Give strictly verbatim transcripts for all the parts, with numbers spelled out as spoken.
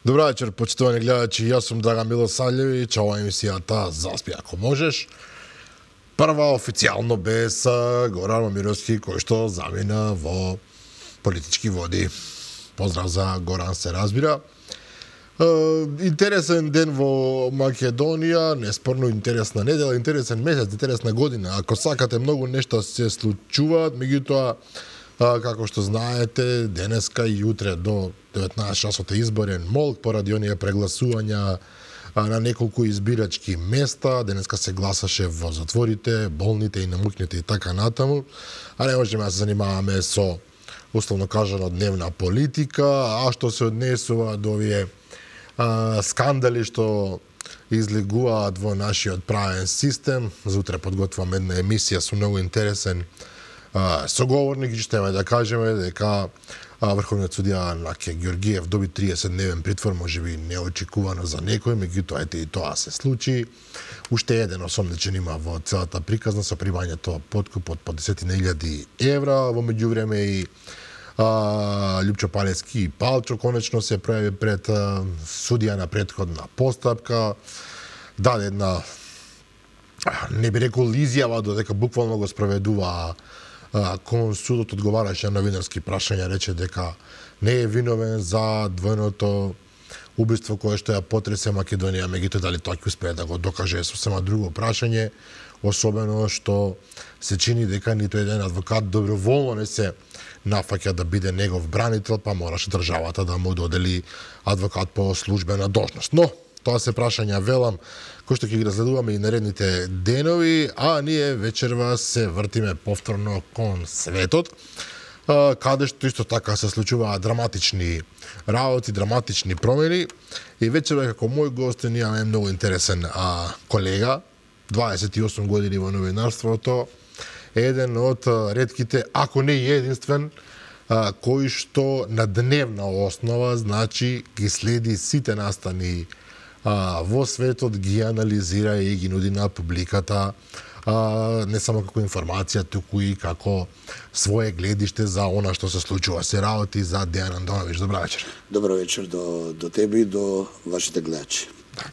Добра вечер, почитувани гледачи. Јас сум Драган Милосављевиќ, ова е емисијата Заспи ако можеш. Прва официјално без Горан Момировски, кој што замина во политички води. Поздрав за Горан, се разбира. Интересен ден во Македонија, неспорно интересна недела, интересен месец, интересна година. Ако сакате, многу нешта се случуваат, меѓутоа, како што знаете, денеска и утре до деветнаесет часот е изборен молк поради оние прегласувања на неколку избирачки места. Денеска се гласаше во затворите, болните и намукните и така натаму. А не можеме да се занимаваме со, условно кажано, дневна политика, а што се однесува до овие а, скандали што излегуваат во нашиот правен систем. За утре подготвувам една емисија со многу интересен а, соговорник и што да кажеме дека а, Врховниот судија Наке Ѓоргиев доби триесет дневен притвор, можеби неочекувано за некој, меѓутоа ете и тоа се случи. Уште еден осомничен има во целата приказна со примањето подкуп од по десетина илјади евра. Во меѓувреме и а, Љупчо Палевски и Палчо конечно се пројави пред а, судија на претходна постапка. Даде една, не би рекол изјава, додека буквално го спроведува кон судот, одговараше на новинарски прашања, рече дека не е виновен за двојното убиство кое што ја потресе Македонија, меѓутоа дали тоа ќе успее да го докаже е сосема друго прашање, особено што се чини дека ниту еден адвокат доброволно не се нафаќа да биде негов бранител, па мораше државата да му додели адвокат по службена должност. Но тоа се прашања, велам, кои што ќе ги разгледуваме и наредните денови, а ние вечерва се вртиме повторно кон светот, каде што исто така се случуваат драматични работи, драматични промени. И вечерва како мој гост имаме многу интересен а, колега, дваесет и осум години во новинарството, еден од ретките, ако не и единствен, а, кој што на дневна основа, значи, ги следи сите настани а, во светот, ги анализира и ги нуди на публиката, а, не само како информација, туку и како свое гледиште за она што се случува. Се работи за Дејан Андоновиќ. Добра вечер. Добро вечер до, до тебе и до вашите гледачи. Да.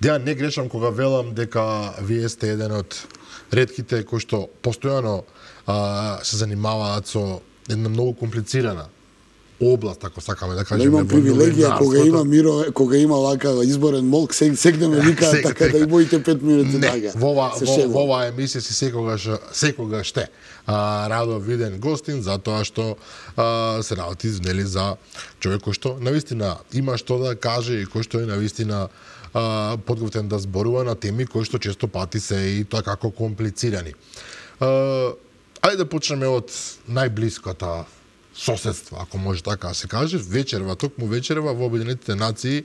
Дејан, не грешам кога велам дека вие сте еден од ретките кои што постојано а, се занимаваат со една многу комплицирана област, ако сакаме да кажеме. Но имам привилегија кога има миро, кога има вака изборен молк, секогаш ме викаат така да и моите пет минути дага. Во во оваа емисија си секогаш секогаш сте а, радо виден гостин, затоа што а, се работи нели за човек кој што навистина има што да каже и кој што е навистина а, подготвен да зборува на теми кои што често пати се и тоа како комплицирани. А, ајде да почнеме од најблиската соседство, ако може така да се каже. Вечерва, токму вечерва во Обединетите нации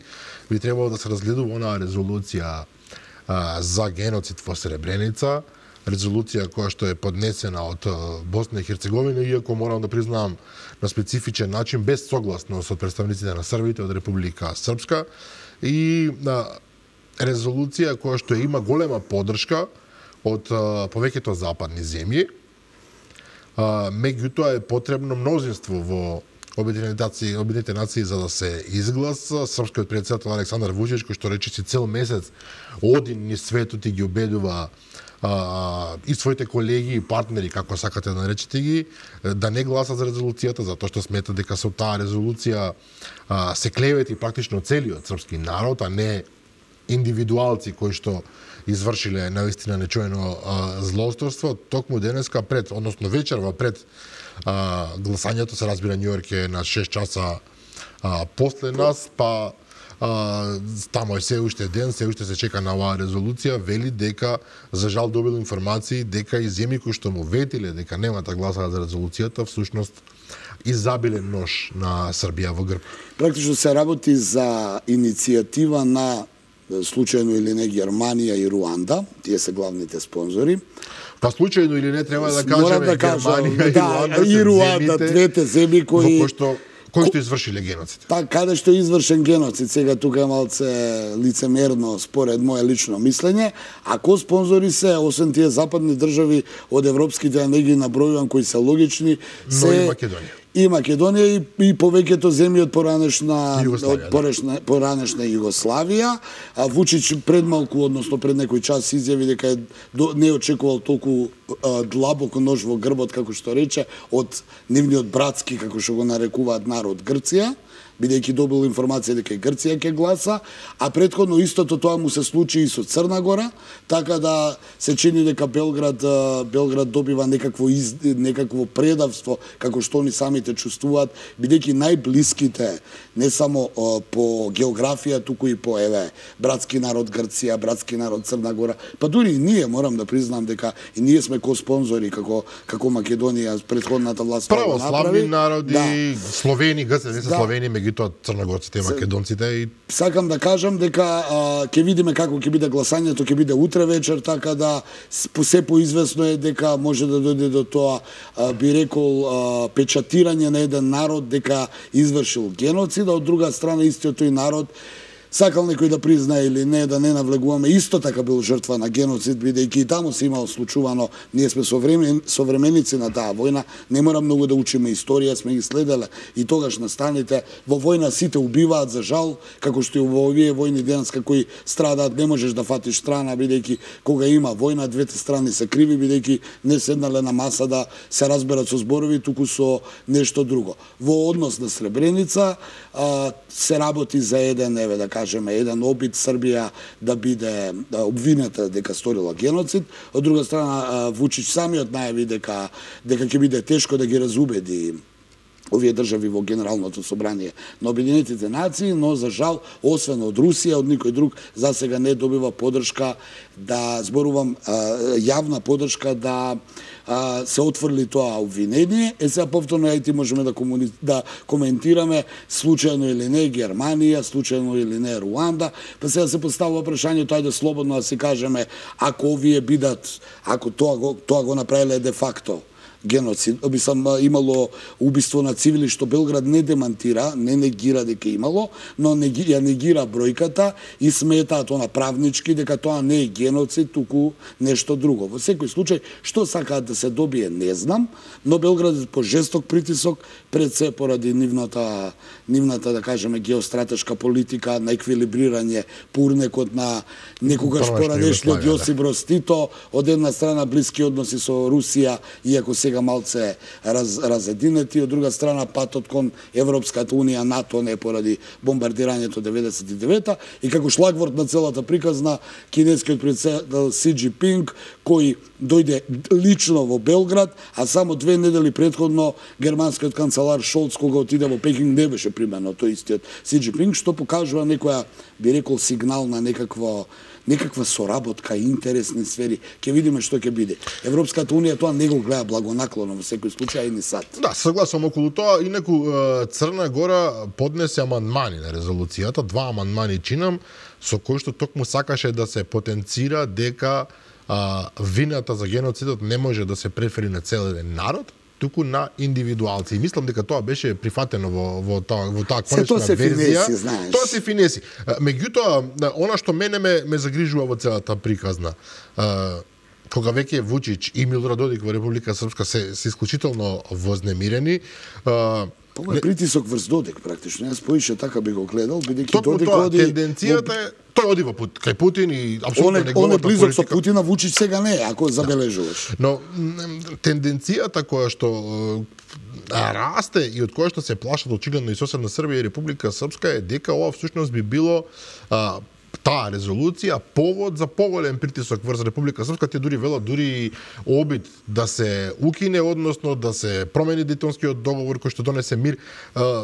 би требало да се разгледува онаа резолуција а, за геноцид во Сребреница, резолуција која што е поднесена од Босна и Херцеговина, иако морам да признавам на специфичен начин, без согласност од представниците на Србите од Република Српска, и а, резолуција која што има голема поддршка од а, повеќето западни земји. Uh, меѓутоа е потребно мнозинство во Обединетите нации, Обединетите нации за да се изгласа. Српскиот претседател Александар Вучич, кој што рече си цел месец оди низ светот и ги убедува uh, и своите колеги и партнери, како сакате да наречете ги, да не гласат за резолуцијата, затоа што смета дека со таа резолуција uh, се клевети практично целиот српски народ, а не индивидуалци кои што извршиле наистина нечоено а, злосторство. Токму денеска пред, односно вечерва пред а, гласањето, се разбира Њујорк е на шест часа а, после нас, па а, тамо е се уште ден, се уште се чека на оваа резолуција, вели дека за жал добил информации дека и земји кои што му ветиле дека нема да гласаат за резолуцијата, всушност изабиле нож на Србија во грб. Практично се работи за иницијатива на случајно или не Германија и Руанда, тие се главните спонзори. Па случајно или не треба да кажеме да Германија да, и Руанда, и Руанда, двете земји кои кои што кои што извршиле геноцид. Така, каде што е извршен геноцид, сега тука е малце лицемерно според мое лично мислење, а ко спонзори се, освен тие западни држави од европските, а не ги набројувам кои се логични, се но и Македонија. И Македонија и, и повеќето земји од поранешна Југославија, од поранешна, поранешна Југославија, а Вучич пред малку, односно пред некој час изјави дека е до, не очекувал толку а, длабоко нож во грбот, како што рече, од нивниот братски, како што го нарекуваат народ Грција, бидејќи добил информација дека и Грција ќе гласа, а претходно истото тоа му се случи и со Црна Гора, така да се чини дека Белград Белград добива некакво из, некакво предавство, како што они самите чувствуваат, бидејќи најблиските не само о, по географија, туку и по еве братски народ Грција, братски народ Црна Гора, па дури и ние морам да признам дека и ние сме ко спонзори како како Македонија претходната власт православни народи, да. Словени, грци не се да. Словени, меѓутоа црногорците и македонците и сакам да кажам дека а, ќе видиме како ќе биде гласањето, ќе биде утре вечер, така да се поизвестно е дека може да дојде до тоа, а, би рекол, а, печатирање на еден народ дека извршил геноцид, а од друга страна истиот тој народ сакал некој да признае или не, да не навлегуваме, исто така бил жртва на геноцид, бидејќи и таму се имало случувано, ние сме современ, современици на таа војна, не мора многу да учиме историја, сме ги следеле и тогаш настаните, во војна сите убиваат за жал, како што и во овие војни денес кои страдаат, не можеш да фатиш страна, бидејќи кога има војна, двете страни се криви, бидејќи не седнале на маса да се разберат со зборови, туку со нешто друго. Во однос на Сребреница а, се работи за еден, еве да кажеме, еден обид Србија да биде да обвинета дека сторила геноцид, од друга страна Вучич самиот најави дека дека ќе биде тешко да ги разубеди овие држави во Генералното собрание на Обединетите нации, но за жал, освен од Русија, од никој друг, за сега не добива подршка да, зборувам, јавна подршка да се отврли тоа обвинение. Е сега повторно ајти можеме да, комуни... да коментираме случајно или не Германија, случајно или не Руанда, па сега се поставува прашањето, ајде слободно да си кажеме, ако овие бидат, ако тоа го, тоа го направиле де факто геноцид, би сам имало убиство на цивили, што Белград не демантира, не негира дека имало, но неги, ја негира бројката и сметаат она правнички дека тоа не е геноцид, туку нешто друго. Во секој случај, што сакаат да се добие, не знам, но Белград по жесток притисок, пред се поради нивната, нивната, да кажеме, геостратешка политика на еквилибрирање пурнекот на некогаш поранешниот Јосип Броз Тито, од една страна блиски односи со Русија, иако се сега малце раз, разединети, од друга страна патот кон Европската унија, НАТО не поради бомбардирањето деветдесет и девета и како шлагворд на целата приказна кинескиот председател Си Џинпинг кој дојде лично во Белград, а само две недели претходно германскиот канцелар Шолц кога отиде во Пекинг не беше примено тој истиот Си Џинпинг, што покажува некоја, би рекол, сигнал на некакво некаква соработка, интересни сфери. Ќе видиме што ќе биде. Европската унија тоа не го гледа благонаклоно во секој случај и ни сад. Да, согласувам околу тоа. Инаку Црна Гора поднесе амандмани на резолуцијата, два амандмани чинам, со кои што токму сакаше да се потенцира дека а, вината за геноцидот не може да се префери на цел еден народ, туку на индивидуалци. И мислам дека тоа беше прифатено во во таа во таа конечна верзија. Финеси, знаеш. Тоа се финеси. Меѓутоа, она што мене ме, ме загрижува во целата приказна, кога веќе Вучич и Милорад Додик во Република Српска се, се исклучително вознемирени, Тоа е притисок врз Додик практично. Јас поише така би го гледал, бидејќи Додик тоа, оди тенденцијата е тој оди во пут кај Путин и апсолутно неговата политика. Он е близок со Путина, Вучич сега не е, ако забележуваш. Но тенденцијата која што расте и од која што се плашат очигледно и соседна Србија и Република Српска е дека ова всушност би било а, таа резолуција повод за поголем притисок врз Република Српска. Те дури велат дури обид да се укине, односно да се промени Дејтонскиот договор кој што донесе мир.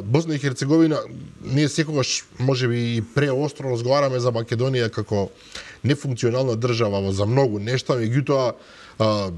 Босна и Херцеговина, ние секогаш можеби и преостро разговараме за Македонија како нефункционална држава за многу нешта, меѓутоа а,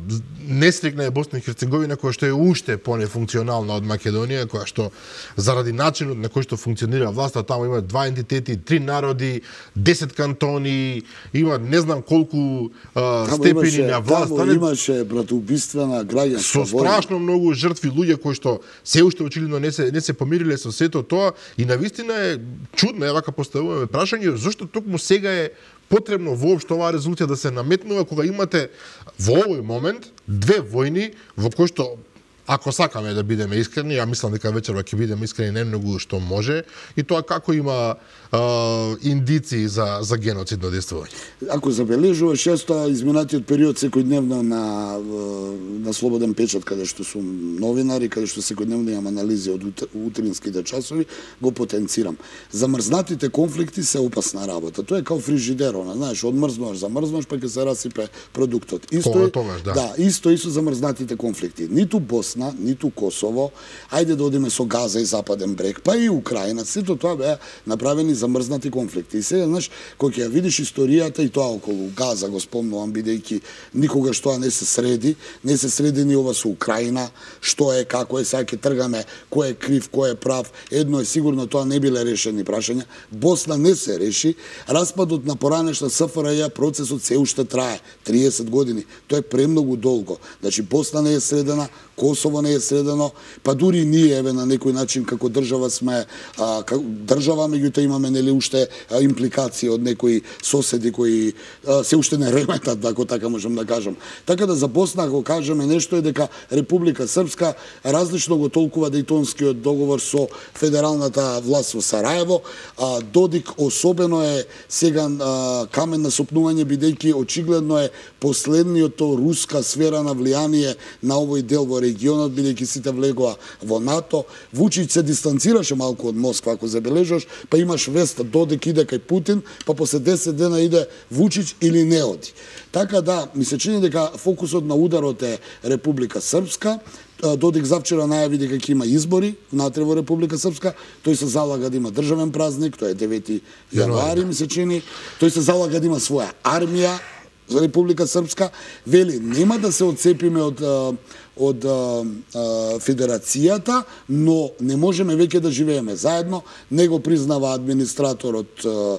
несрекна е Босна и Херцеговина, која што е уште понефункционална од Македонија, која што заради начинот на кој што функционира власта, таму има два entiteti, три народи, десет кантони, има не знам колку а, степени имаше, на власт. Таму имаше братоубиствена граѓанска со страшно многу жртви луѓе кои што се уште очигледно не се не се помириле со сето тоа и навистина е чудно е вака поставуваме прашање зошто токму сега е потребно воопшто оваа резолуција да се наметнува кога имате во овој момент две војни во кои што ако сакаме да бидеме искрени, ја мислам дека вечерва ќе бидеме искрени најмногу што може и тоа како има а, индици за за геноцидно действување. Ако забележуваш често изминатиот период секојдневно на на Слободен печат каде што сум новинари, каде што секојдневно имам анализи од утринските часови, го потенцирам. Замрзнатите конфликти се опасна работа. Тоа е као фрижидерона, знаеш, одмрзнуваш, замрзнуваш, па ќе се расипе продуктот. Исто е, тогаш, да. да, исто и со замрзнатите конфликти. Ниту Босна, ниту Косово, ајде да одиме со Газа и Западен брег, па и Украина, сето тоа беа направени замрзнати конфликти. И сега, знаеш, кога ќе ја видиш историјата и тоа околу Газа, го спомнувам, бидејќи никогаш тоа не се среди, не се среди ни ова со Украина, што е, како е, сега ќе тргаме, кој е крив, кој е прав, едно е сигурно, тоа не биле решени прашања. Босна не се реши, распадот на поранешна СФРЈ, процесот се уште трае, триесет години, тоа е премногу долго. Значи, Босна не е средена, Косово не е средено, па дури ние еве на некој начин како држава сме а, како држава, меѓутоа имаме нели уште а, импликации од некои соседи кои а, се уште не реметат, ако така можам да кажам. Така да за Босна ако кажеме нешто е дека Република Српска различно го толкува Дејтонскиот договор со федералната власт во Сараево, а Додик особено е сега а, камен на сопнување бидејќи очигледно е последниото руска сфера на влијание на овој дел во регионот, бидејќи сите влегоа во НАТО. Вучич се дистанцираше малку од Москва, ако забележаш, па имаш веста Додик иде кај Путин, па после десет дена иде Вучич или не оди. Така да, ми се чини дека фокусот на ударот е Република Српска. Додик завчера најави дека ќе има избори внатре во Република Српска. Тој се залага да има државен празник, тоа е девети јануари, ми се чини. Тој се залага да има своја армија за Република Српска. Вели, нема да се одцепиме од од а, а, федерацијата, но не можеме веќе да живееме заедно. Не го признава администраторот, а,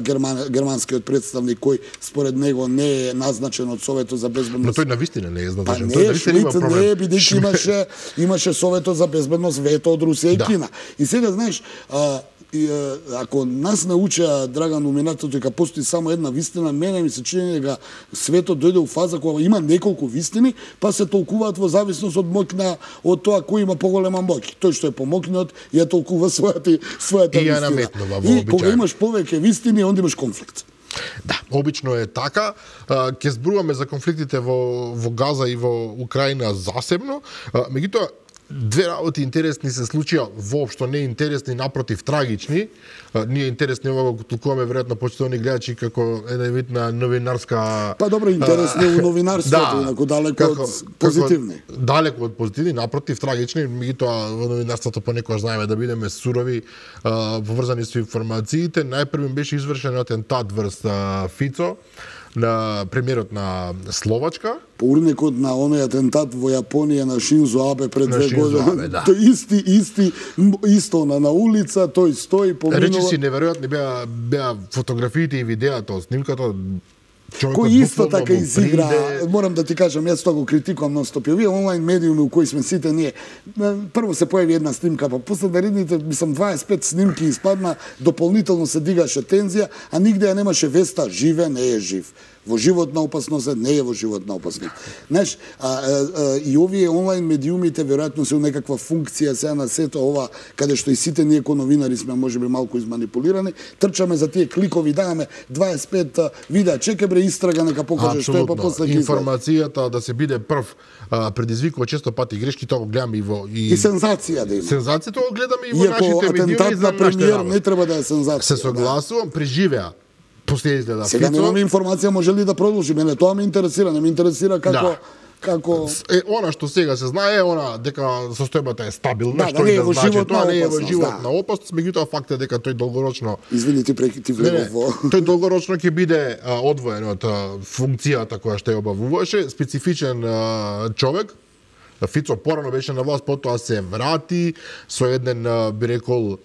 герман, германскиот представник, кој според него не е назначен од Советот за безбедност. Но тој навистина не е назначен. Па не, Швейц не е, бидејќи имаше, имаше Советот за безбедност вето од Русија и да. Кина. И сега, знаеш, а, И, ако нас науча Драган Уминатото дека постои само една вистина, мене ми се чини дека светот дојде у фаза кога има неколку вистини, па се толкуваат во зависност од моќна од тоа кој има поголема моќ. Тој што е помоќниот ја толкува својата својата и вистина. наметнува, и кога имаш повеќе вистини, онда имаш конфликт. Да, обично е така. Ќе зборуваме за конфликтите во во Газа и во Украина засебно. Меѓутоа две работи интересни се случија, воопшто не интересни, напротив трагични. Ние интересни ова го толкуваме веројатно почитувани гледачи како еден вид на новинарска. Па добро, интересни у новинарството, да, инаку далеко како, од позитивни. Како, далеко од позитивни, напротив трагични, меѓутоа во новинарството понекогаш знаеме да бидеме сурови, поврзани со информациите. Најпрвим беше извршен атентат врз Фицо на премиерот на Словачка. Поурникот на оној атентат во Јапонија на Шинзо Абе пред две години. Да. Тој исти, исти, исто на, на улица, тој стои поминува. Речи си неверојатни беа, беа фотографиите и видеото од снимката. Кој исто така изигра, приде... морам да ти кажам, јас тоа го критикувам нон-стоп. Овие онлайн медиуми у кои сме сите ние, прво се појави една снимка, па после наредните, мислам, дваесет и пет снимки испадна, дополнително се дигаше тензија, а нигде ја немаше веста, живе, не е жив. Во животна опасност, не е во животна опасност. Знаеш, а, а, а, и овие онлайн медиумите веројатно се у некаква функција сега на сето ова, каде што и сите ние ко новинари сме можеби малку изманипулирани, трчаме за тие кликови, даваме дваесет и пет видеа, чекај бре истрага нека покаже што е, па после ќе информацијата да се биде прв а, предизвикува често пати грешки, тоа го гледаме и во и, и сензација да има. Сензацијата го гледаме и во Иако нашите медиуми. Иако атентат на премиер не треба да е сензација. Се согласувам, преживеа. После изгледа Сега Фицо. немаме информација може ли да продолжи. Мене тоа ме интересира, не ме интересира како Да. како е она што сега се знае е она дека состојбата е стабилна, да, што да, и да значи тоа не е во опасност, живот да. на опасност, меѓутоа факт е дека тој долгорочно Извини ти преки ти влегов во тој долгорочно ќе биде а, одвоен од а, функцијата која што ја обавуваше, специфичен а, човек. Фицо порано беше на власт, потоа се врати со еден, би рекол,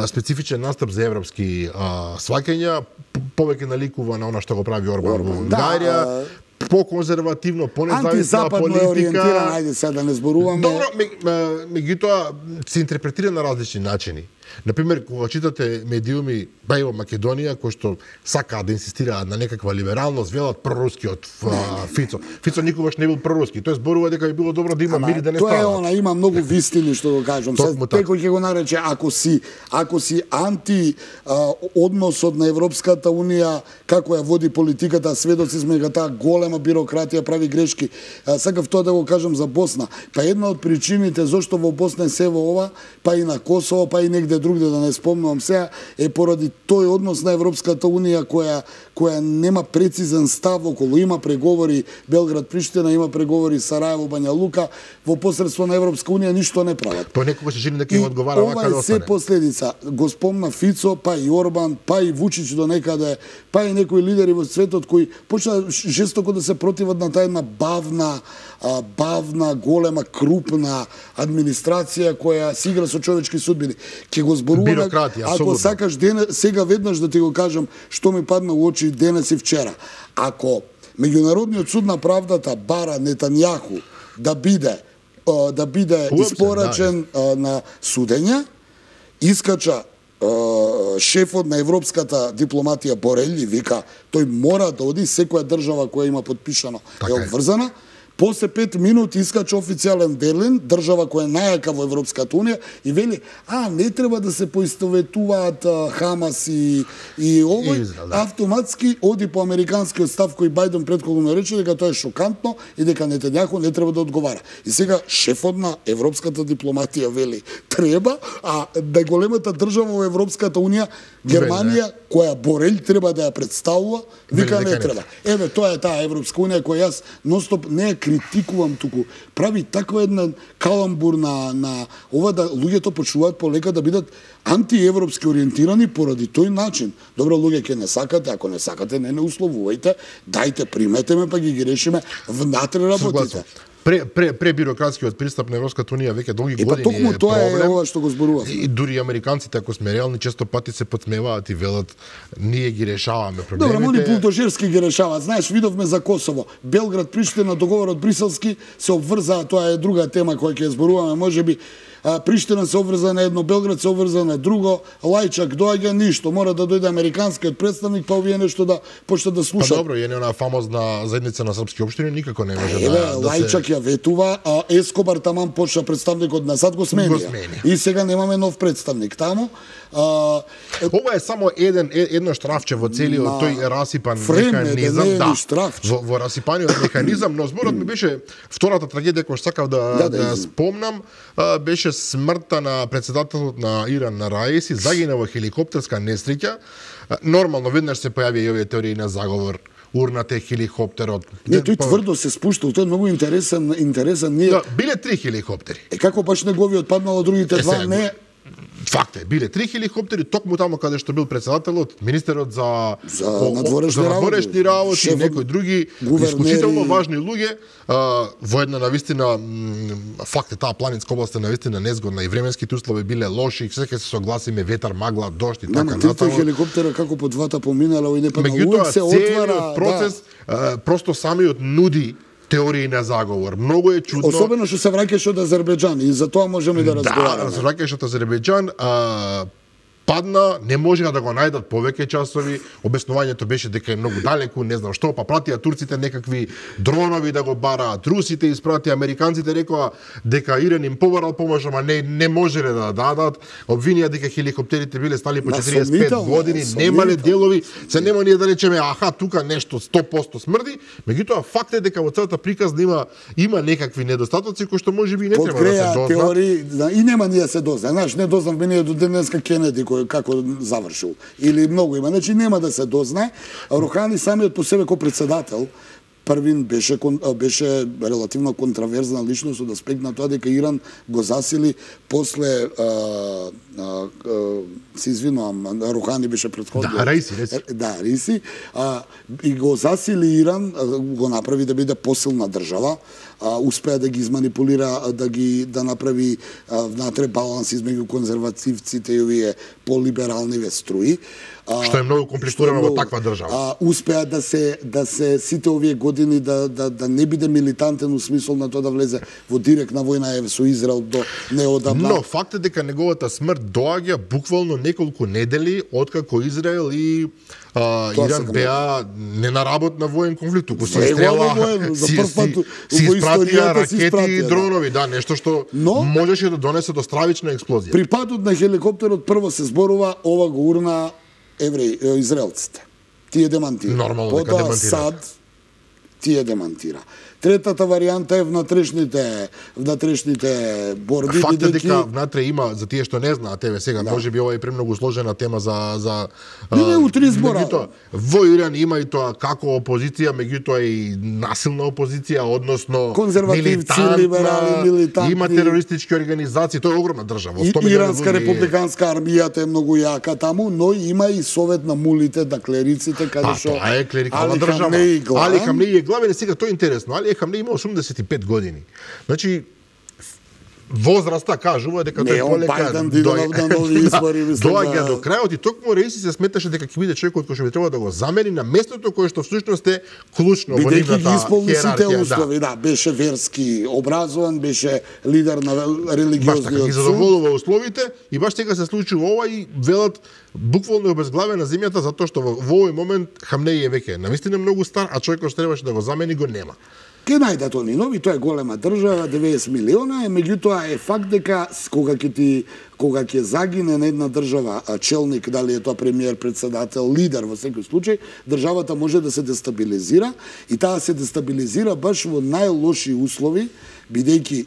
специфичен настап за европски а, сваќања, повеќе наликува на она што го прави Орбан во Унгарија, да, по-конзервативно, по-независна политика. Ориентиран, ајде сега да не зборуваме. Добро, меѓутоа се интерпретира на различни начини. Например, кога читате медиуми, ба и во Македонија, кои што сакаат да инсистираат на некаква либералност, велат прорускиот Фицо. Фицо никогаш не бил проруски. Тој зборува дека би било добро да има мир и да не стават. Тоа е она, има многу вистини што го кажам. Се некој ќе го нарече ако си ако си анти а, односот на Европската унија како ја води политиката, сведоци сме дека таа голема бирократија прави грешки. А, сакав тоа да го кажам за Босна. Па една од причините зошто во Босна се во ова, па и на Косово, па и негде другде да не спомнувам сега, е поради тој однос на Европската унија која која нема прецизен став околу, има преговори Белград-Приштина, има преговори Сараево-Бања Лука, во посредство на Европска унија ништо не прават. По некогаш се жени дека им одговара вака да остане. Ова е се последица. Го спомна Фицо, па и Орбан, па и Вучич до некаде, па и некои лидери во светот кои почна жестоко да се противат на таа една бавна, бавна, голема, крупна администрација која си игра со човечки судбини. Ке го зборуваме, ако сакаш ден, сега веднаш да ти го кажам што ми падна у очи денес и вчера. Ако Меѓународниот суд на правдата бара Нетањаху да биде да биде испорачен да, на судење, искача шефот на европската дипломатија Борел и вика тој мора да оди, секоја држава која има подпишано е обврзана. После пет минути искача официјален Берлин, држава која е најака во Европската унија, и вели, а, не треба да се поистоветуваат Хамас и, и овој, Израел, да. Автоматски оди по американскиот став кој Бајден претходно рече дека тоа е шокантно и дека Нетањаху не треба да одговара. И сега шефот на европската дипломатија вели, треба, а да големата држава во Европската унија, Германија, која Борел треба да ја представува, вика не треба. Еве, тоа е таа Европска унија која јас ностоп не критикувам, туку прави таква една каламбур на, на ова да луѓето почнуваат полека да бидат антиевропски ориентирани поради тој начин. Добро, луѓе, ке не сакате, ако не сакате, не не условувајте, дајте, примете ме, па ги ги решиме внатре работите. Пре, пре, пре бирократскиот пристап на Европската унија веќе долги е, години е тоа проблем. Е ова што го зборував. И дури американците, ако сме реални, често пати се подсмеваат и велат ние ги решаваме проблемите. Добро, они булдожерски ги решаваат. Знаеш, видовме за Косово. Белград, Приштина, договорот Бриселски се обврзаа, тоа е друга тема која ќе зборуваме, можеби. Приштина се обврза на едно, Белград се обврза на друго, Лајчак доаѓа, ништо, мора да дојде американскиот представник, па овие нешто да почнат да слушаат. Па добро, е не она фамозна заедница на српски општини, никако не може е, да, да Лајчак се... ја ветува, а Ескобар таман почна представникот на САД го сменија. И сега немаме нов представник таму. А, е... Ова е само еден едно штрафче во целиот на... тој расипан Фреме, механизам, да, да. Во, во расипаниот механизам, но зборот ми беше втората трагедија која сакав да да, да, да спомнам, а, беше смртта на председателот на Иран на Раиси, загина во хеликоптерска несреќа. Нормално веднаш се појави и овие теории на заговор. Урната е хеликоптерот. Не, тој тврдо се спуштал, тој е многу интересен, интересен. Ние... Да, биле три хеликоптери. Е како баш неговиот паднало, другите два не... Факт е, биле три хеликоптери, токму таму каде што бил председателот, министерот за за надворешни работи, работи и некои други исклучително важни луѓе, а, во една навистина факт е таа планинска област е навистина незгодна и временските услови биле лоши, секој се согласиме ветар, магла, дожд и така натаму. Нема трите хеликоптера како по двата поминала и не падна, луѓе се отвара, процес, да. а, просто самиот нуди теории на заговор. Многу е чудно. Особено што се враќаше од Азербејџан и за тоа можеме да разговараме. Да, се враќаше од Азербејџан, а падна, не можеа да го најдат повеќе часови, обяснувањето беше дека е многу далеку, не знам што, па пратија турците некакви дронови да го бараат, русите испратија, американците рекоа дека Иран им побарал помош, ама не не можеле да дадат, обвинија дека хеликоптерите биле стали по четириесет и пет години, немале делови, се нема ние да речеме аха тука нешто сто проценти смрди, меѓутоа факт е дека во целата приказна има има некакви недостатоци кои што можеби не треба да се дознаат. Теории, да, и нема ние се дозна. Знаеш, не дознавме ние до денеска Кенеди како завршил. Или многу има. Значи нема да се дознае. Рухани самиот по себе како председател првин беше беше релативно контраверзна личност од аспект на тоа дека Иран го засили после а, а, а, се извинувам, Рухани беше претходно. Да, Раиси, Раиси. Да, Раиси. А, и го засили Иран, го направи да биде посилна држава, а, успеа да ги изманипулира, да ги да направи а, внатре баланс измеѓу конзервативците и овие полибералниве струи. А, што е многу комплицирано во таква држава. А, успеа да се да се сите овие години да да да не биде милитантен у смисол на тоа да влезе во директна војна е со Израел до неодамна. Но факт е дека неговата смрт доаѓа буквално неколку недели откако Израел и а, Иран беа не на работ на воен конфликт, туку се стрела, си, си, си испратија ракети и дронови, да, нешто што но, можеше да донесе до стравична експлозија. При падот на хеликоптерот прво се зборува ова го урна евреи, израелците. Тие демантира. Нормално дека демантира. САД тие демантира. Третата варијанта е внатрешните внатрешните борби. Факт е дека внатре има, за тие што не знаат, еве сега, да. Можеби ова е премногу сложена тема за за не, не, утре избора. Во Иран има и тоа како опозиција, меѓутоа и насилна опозиција, односно конзервативци, либерали, милитантни. Има терористички организации, тоа е огромна држава. И, Иранска републиканска армијата е многу јака таму, но има и совет на мулите, на клериците, каде што тоа е клерикална држава. Али Хамнеи е главен, сега тоа е интересно. Али Хамнеи има осумдесет и пет години. Значи, возраста кажува дека тој полека доаѓа до крајот и токму Раиси се сметаше дека ќе биде човекот кој што би требало да го замени на местото кое што всушност е клучно во нивната бидејќи ги исполни сите услови, да. да, беше верски образован, беше лидер на религиозниот суд. Баш така ги задоволува условите и баш сега се случува ова и велат буквално обезглавена земјата затоа што во овој момент Хамнеи е веќе навистина многу стар, а човекот што требаше да го замени го нема. Ке најдат они нови, тоа е голема држава, деветдесет милиона, е, меѓутоа е факт дека кога ќе ти кога ќе загине на една држава челник, дали е тоа премиер, председател, лидер во секој случај, државата може да се дестабилизира и таа се дестабилизира баш во најлоши услови, бидејќи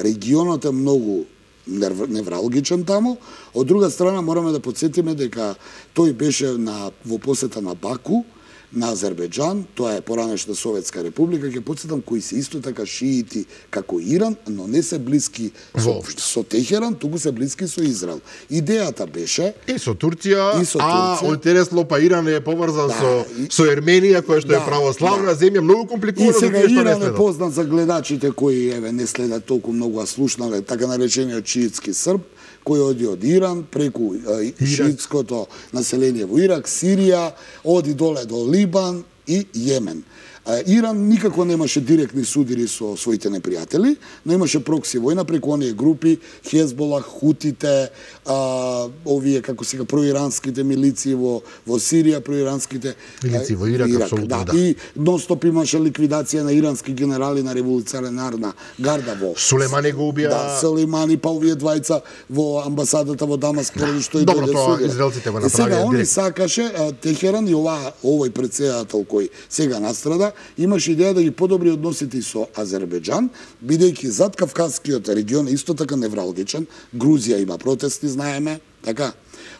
регионот е многу невралгичен таму. Од друга страна мораме да подсетиме дека тој беше на во посета на Баку, на Азербејџан, тоа е поранешна Советска република, ќе подсетам, кои се исто така шиити како Иран, но не се блиски со, со Техеран, туку се блиски со Израел. Идејата беше и со Турција, и со а интересно па Иран е поврзан да, со и, со Ерменија, која што да, е православна да. земја, многу компликувано. И сега Иран е познат за гледачите кои еве не следат толку многу, а слушнале така наречениот шиитски срб, кој оди од Иран, преку шиитското население во Ирак, Сирија, оди доле до Либан и Јемен. Иран никако немаше директни судири со своите непријатели, но имаше прокси војна преку оние групи, Хезболах, Хутите, а, овие, како сега, проиранските милиции во, во Сирија, проиранските милиции во Ирак, Ирак да, да. И нон-стоп имаше ликвидација на ирански генерали на револуционарна гарда во Сулеймани го убија. Да, Сулеймани, па овие двајца во амбасадата во Дамаск, први што и добро, тоа израелците го направија. Сега они сакаше Техеран и ова овој претседател кој сега настрада имаше идеја да ги подобри односите со Азербејџан, бидејќи зад Кавказскиот регион исто така невралгичен, Грузија има протести, знаеме, така.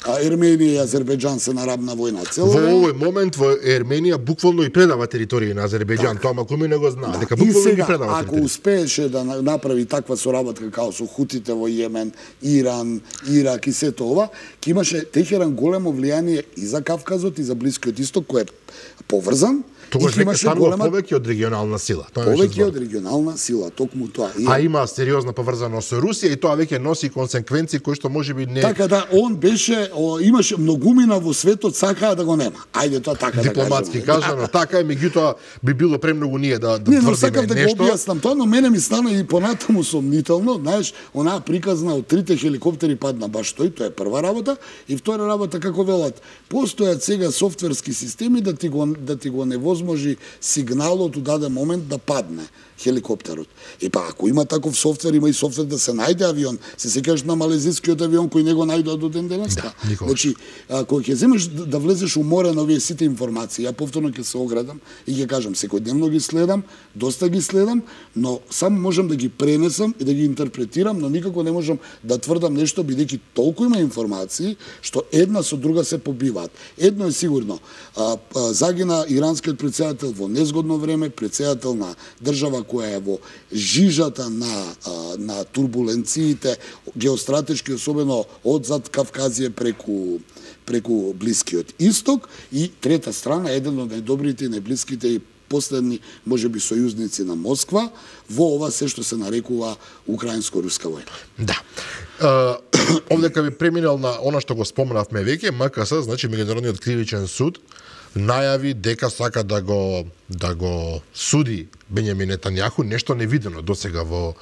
А Ерменија и Азербејџан се на рабна војна цело. Во овој момент во Ерменија буквално и предава територија на Азербејџан, тоа макуми не го знае, да. дека буквално ги предава. Ако успееше да направи таква соработка као со хутите во Јемен, Иран, Ирак и сето ова, ќе имаше Техеран големо влијание и за Кавказот и за Блискиот Исток, кој е поврзан. Тогаш веќе станува голема... повеќе од регионална сила. Тоа повеќе од регионална сила, токму тоа. И... А има сериозна поврзаност со Русија и тоа веќе носи консеквенции кои што можеби не... Така да, он беше, о, имаше многумина во светот, сакаа да го нема. Ајде тоа така дипломатски да кажеме. кажано, така е, меѓутоа би било премногу ние да, да не, тврдиме но сакав да нешто. го објаснам тоа, но мене ми стана и понатаму сомнително, знаеш, онаа приказна од трите хеликоптери падна баш тој, тоа е прва работа, и втора работа како велат, постојат сега софтверски системи да ти го да ти го невозможи сигналот у даден момент да падне хеликоптерот. И па ако има таков софтвер, има и софтвер да се најде авион. Се сеќаш на малезискиот авион кој не го најдоа до ден денес? Да, никогаш. Значи, а, кога ќе земеш да влезеш у море на овие сите информации, ја повторно ќе се оградам и ќе кажам, секојдневно ги следам, доста ги следам, но само можам да ги пренесам и да ги интерпретирам, но никако не можам да тврдам нешто, бидејќи толку има информации што една со друга се побиваат. Едно е сигурно, а, а, загина иранскиот претседател во незгодно време, претседател на држава која е во жижата на, а, на турбуленциите, геостратешки, особено од зад Кавказија преку преку Блискиот Исток, и трета страна, еден од најдобрите и најблиските и последни, можеби, сојузници на Москва во ова се што се нарекува украинско-руска војна. Да. Uh, овдека би преминал на она што го споменавме веќе, М К С, значи Меѓународниот кривичен суд, најави дека сака да го да го суди Бенјамин Нетањаху, нешто невидено досега во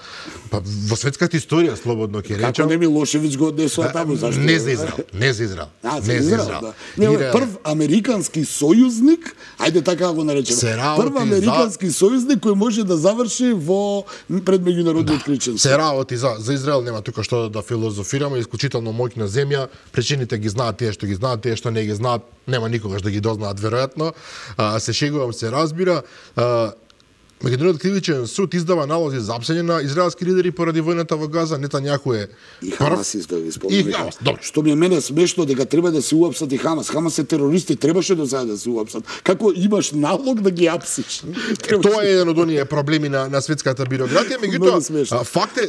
па, во светската историја, слободно ќе речам. Како не Милошевиќ го однесува таму, зашто? Не за Израел, не за Израел. А, за не Израел, за Израел. да. Не, Ире... прв американски сојузник, ајде така го наречеме. Прв американски за... сојузник кој може да заврши во пред меѓународниот кривичен суд. Се работи за за Израел, нема тука што да филозофираме, исклучително моќна земја, причините ги знаат тие што ги знаат, тие што не ги знаат, нема никогаш да ги дознаат веројатно. А, се шегувам, се разбира. А, Меѓународниот кривичен суд издава налози за апсење на израелски лидери поради војната во Газа. Нетањаху е и Хамас издава, ви спомнам. И Хамас, добро. Што ми е мене смешно дека треба да се уапсат и Хамас. Хамас е терористи, требаше до сега да се уапсат. Како имаш налог да ги апсиш? Тоа е еден од оние проблеми на на светската бирократија, меѓутоа факт е,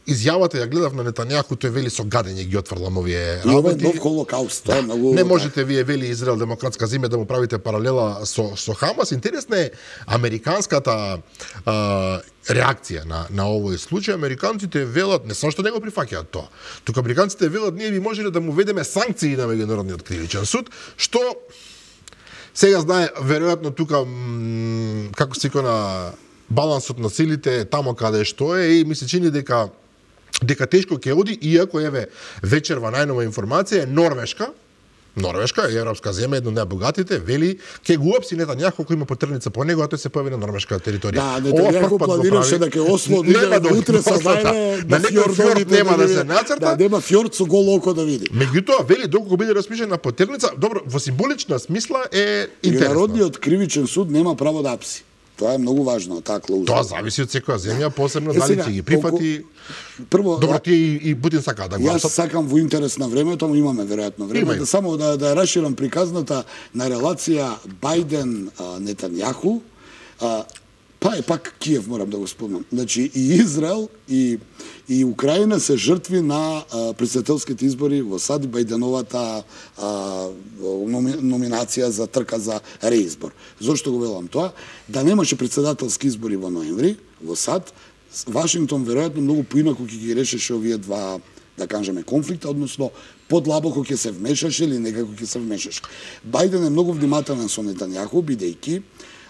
изјавата ја гледав на Нетањаху, тој вели со гадење ги отврлам овие работи. И ова е нов холокауст, тоа е многу. Не можете вие вели Израел демократска земја да му правите паралела со со Хамас. Интересна е американската а, реакција на на овој случај. Американците велат, не само што не го прифаќаат тоа. Тука американците велат, ние би можеле да му ведеме санкции на Меѓународниот кривичен суд, што сега знае веројатно тука како се на балансот на силите тамо каде што е, и ми се чини дека дека тешко ќе оди, иако еве вечерва најнова информација е Норвешка, Норвешка е европска земја, една од најбогатите, вели ќе го уапси Нетањаху ако има потребница по него, а тој се појави на норвешка територија. Да, Нетањаху планираше да ќе Осло нема да утре со зајме на некој фјорд нема да се нацрта. Да, нема фјорд со голо око да види. Меѓутоа вели доколку биде распишена потерница, добро, во символична смисла е интересно. Меѓународниот кривичен суд нема право да апси. Тоа е многу важно, таа клауза. Тоа зависи од секоја земја, посебно дали ќе ги прифати. Прво, добро, тие и, и Путин сака да го апсат. Јас сакам во интерес на времето, но имаме веројатно време, Имaju. да само да да расширам приказната на релација Бајден Нетањаху. Па е пак Киев, морам да го спомнам. Значи и Израел и и Украина се жртви на претседателските избори во САД, Бајденовата а, номи, номинација за трка за реизбор. Зошто го велам тоа? Да немаше претседателски избори во ноември во САД, Вашингтон веројатно многу поинаку ќе ги решеше овие два, да кажеме, конфликта, односно подлабоко ќе се вмешаше или некако ќе се вмешаше. Бајден е многу внимателен со Нетањаху, бидејќи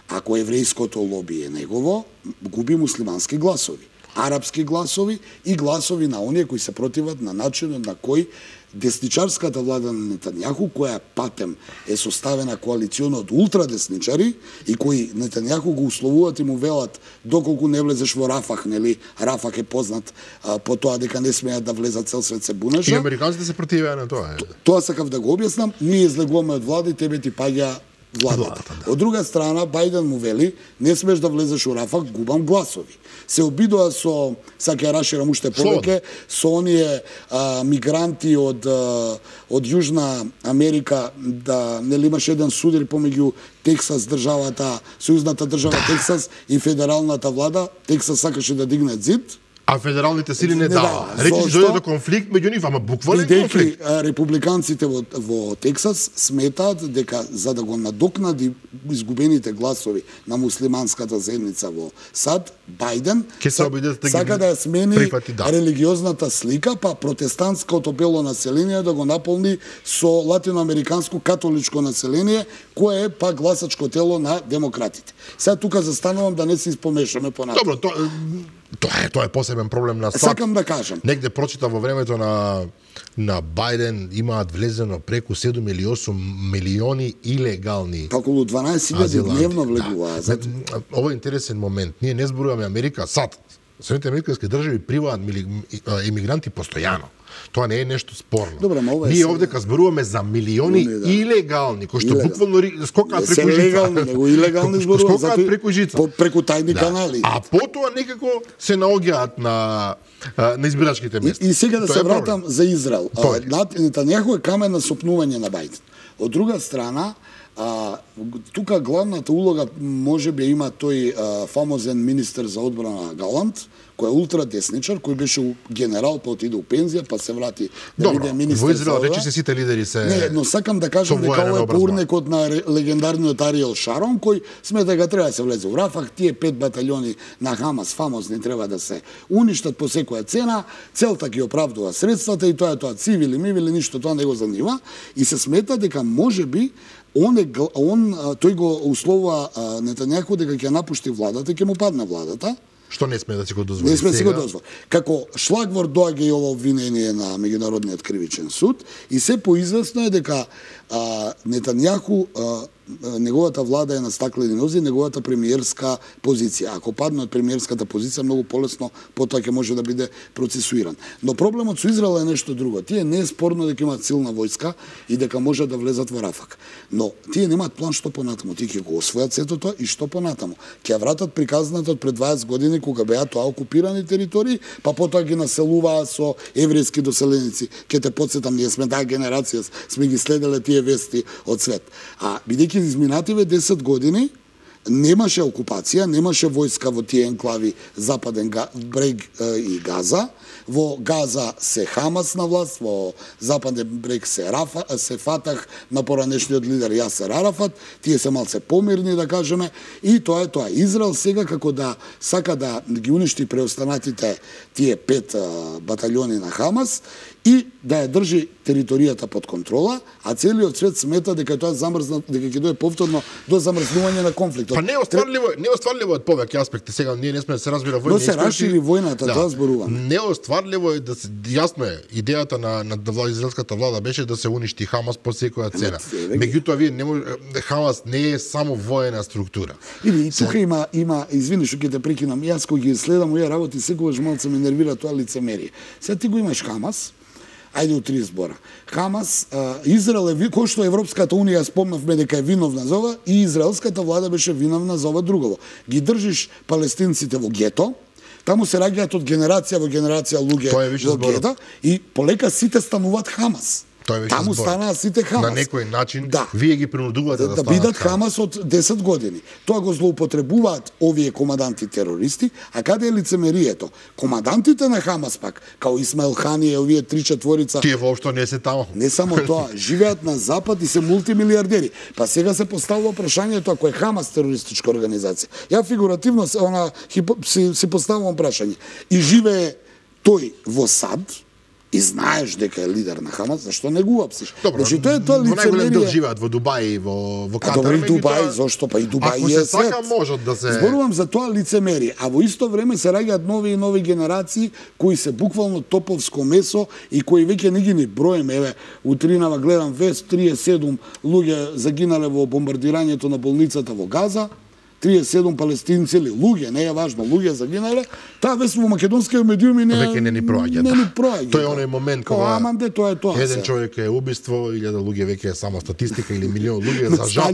ако еврејското лоби е негово, губи муслимански гласови, арапски гласови и гласови на оние кои се противат на начинот на кој десничарската влада на Нетањаху, која патем е составена коалициона од ултрадесничари и кои Нетањаху го условуваат и му велат доколку не влезеш во Рафах, нели? Рафах е познат а, по тоа дека не смеат да влезат, цел свет се бунеше. И американците се противеа на тоа. Е. Тоа сакав да го објаснам. Ние излегуваме од влада и тебе ти паѓа владата. Да. Од друга страна, Бајден му вели, не смеш да влезеш у Рафах, губам гласови. Се обидува со, сака ја раширам уште повеќе, со оние а, мигранти од а, од Јужна Америка, да нели имаш еден судар помеѓу Тексас државата, сојузната држава Тексас и федералната влада. Тексас сакаше да дигне зид, а федералните сили не дава. Речи се дојде до конфликт меѓу нив, ама буквален конфликт. Републиканците во, во Тексас сметаат дека за да го надокнади изгубените гласови на муслиманската заедница во САД, Бајден да сака да ја смени прифати, да. религиозната слика, па протестантското бело население да го наполни со латиноамериканско католичко население, кое е па гласачко тело на демократите. Сега тука застанувам да не се испомешаме понатаму. Добро, тоа Тоа е, тоа е посебен проблем на САД. Сакам да кажам. Негде прочита во времето на на Бајден имаат влезено преку седум или осум милиони илегални. Околу дванаесет илјади дневно влегуваат. Да. Ова е интересен момент. Ние не зборуваме Америка, САД. Соединетите американски држави приваат емигранти постојано. Тоа не е нешто спорно. Добре, ма ова е Ние сега... овдека зборуваме за милиони да. илегални, кои што Илегал. буквално скокаат преку жица. Легални, него илегални зборуваат, скокаат затоа преку жица. По, преку тајни Да. канали. А потоа некако се наоѓаат на на избирачките места. И, и сега да Тоа се е проблем. вратам за Израел. Повеќе. Нетањаху е камен на сопнување на Бајден. Од друга страна, а, тука главната улога можеби има тој а, фамозен министер за одбрана Галант, кој е ултрадесничар, кој беше генерал, па отиде у пензија, па се врати да Добро, биде министер. во Израел за рече се сите лидери се... Не, но сакам да кажам со дека военен ова е образование. поурнекот на ре- легендарниот Ариел Шарон, кој смета дека треба да се влезе у Рафах, тие пет баталјони на Хамас фамозни треба да се уништат по секоја цена, целта ги оправдува средствата и тоа е тоа цивили, мивили, ништо тоа не го занива и се смета дека можеби он, е, гл- он а, тој го условува Нетањаху дека ќе напушти владата, ќе му падне владата. Што не сме да си го дозволи. Не сме да си го сега? дозволи. Како шлагвор доаѓа и ова обвинение на Меѓународниот кривичен суд и се поизвестно е дека а, Нетањаху а, неговата влада е на стаклени нози, неговата премиерска позиција. Ако падне од премиерската позиција, многу полесно потоа ќе може да биде процесуиран. Но проблемот со Израел е нешто друго. Тие не е спорно дека имаат силна војска и дека можат да влезат во Рафак. Но тие немаат план што понатаму. Тие ќе го освојат сето тоа и што понатаму. Ќе ја вратат приказната од пред дваесет години кога беа тоа окупирани територии, па потоа ги населуваа со еврејски доселеници. Ќе те потсетам, ние сме таа генерација, сме ги следеле тие вести од свет. А бидејќи изминативе десет години немаше окупација, немаше војска во тие енклави Западен брег и Газа. Во Газа се Хамас на власт, во Западен брег се Рафа, се Фатах на поранешниот лидер Јасер Арафат, тие се малце помирни да кажеме и тоа е тоа. Израел сега како да сака да ги уништи преостанатите тие пет баталјони на Хамас и да ја држи територијата под контрола, а целиот свет смета дека тоа замрзна, дека ќе дое повторно до замрзнување на конфликтот. Па не остварливо, не остварливо од повеќе аспекти. Сега ние не сме да се разбира војни. Но се расшири војната, да. тоа зборуваме. Не остварливо е да се јасно е идејата на на влада, израелската влада беше да се уништи Хамас по секоја цена. Меѓутоа вие не може, Хамас не е само воена структура. Или и тука има има извини што ќе те прекинам. Јас кога ги следам овие работи секогаш малку ме нервира тоа лицемерие. Сега ти го имаш Хамас. Ајде у три збора. Хамас, а, Израел е, кој што Европската унија спомнавме дека е виновна за ова, и израелската влада беше виновна за ова другово. Ги држиш палестинците во гето, таму се раѓаат од генерација во генерација луѓе во гето и полека сите стануваат Хамас. Таму збор. станаа сите Хамас. На некој начин да. вие ги принудувате да, да, да бидат Хамас од десет години. Тоа го злоупотребуваат овие команданти терористи, а каде е лицемерието? Командантите на Хамас пак, као Исмаил Хани и овие три четворица, тие воопшто не се таму. Не само тоа, живеат на запад и се мултимилиардери. Па сега се поставува прашањето ако е Хамас терористичка организација. Ја фигуративно се она си, си поставувам прашање. И живее тој во САД, и знаеш дека е лидер на Хамас, зашто не го апсиш? Добро, значи тоа е тоа лицемерие. Во најголем дел живеат во Дубај и во во Катар. А добро, и Дубај, зошто па и Дубај ако е се сака свет. можат да се Зборувам за тоа лицемерие, а во исто време се раѓаат нови и нови генерации кои се буквално топовско месо и кои веќе не ги ни броеме. Еве, утринава гледам вест, триесет и седум луѓе загинале во бомбардирањето на болницата во Газа. триесет и седум палестинци или луѓе, не е важно, луѓе загинале, таа вест во македонските медиуми не веќе не ни проаѓа. Не ни проаѓа. Тој е оној момент кога аманде, тоа е тоа. еден човек е убиство, илјада луѓе веќе е само статистика или милион луѓе за жал.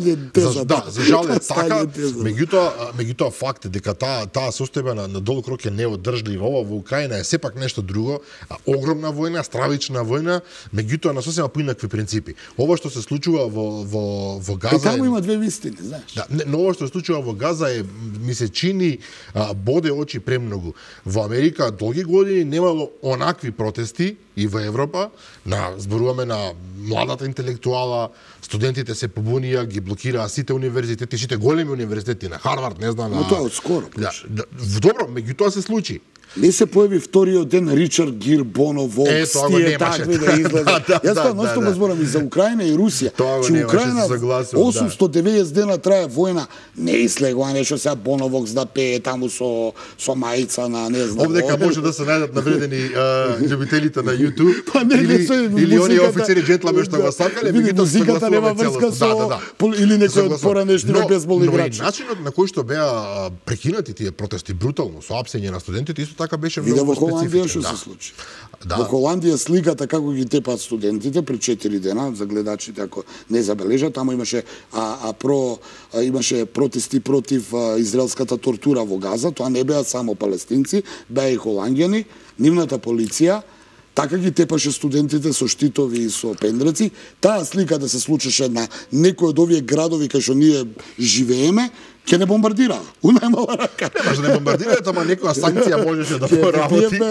За, да, за жал е така. Меѓутоа, меѓутоа факт е дека таа таа состојба на, на долг рок е неодржлива. Ова во Украина е сепак нешто друго, а, огромна војна, стравична војна, меѓутоа на сосема поинакви принципи. Ова што се случува во во во Газа. И таму има две вистини, знаеш. Да, не, но ова што се случува во Газа е, ми се чини, а, боде очи премногу. Во Америка долги години немало онакви протести и во Европа, на зборуваме на младата интелектуала, студентите се побунија, ги блокираа сите универзитети, сите големи универзитети на Харвард, не знам, но тоа од скоро. Да, да, добро, меѓутоа се случи. Не се појави вториот ден Ричард Гир, Боно, Волкс, тие такви да излезат. Јас тоа носто го зборам и за Украина и Русија. Че Украина осумстотин и деветдесет дена трае војна, не излегува нешто сега Боно Волкс да пее таму со со мајца на не знам. Овдека може да се најдат навредени љубителите на YouTube или или оние офицери джентлмени што го сакале, меѓутоа музиката нема врска со или некој од поранешни бейсбол играчи. Начинот на кој што беа прекинати тие протести брутално со апсење на студентите исто така беше Виде многу во Холандија што специфичен. се случи. Да. Во Холандија сликата како ги тепаат студентите пред четири дена, за гледачите ако не забележат, таму имаше а, а про а, имаше протести против а, израелската тортура во Газа, тоа не беа само палестинци, беа и холанѓани, нивната полиција така ги тепаше студентите со штитови и со пендреци. Таа слика да се случеше на некој од овие градови кај што ние живееме, ќе не бомбардира. У најмала рака. Не може да не бомбардираат, ама некоја санкција можеше да поработи.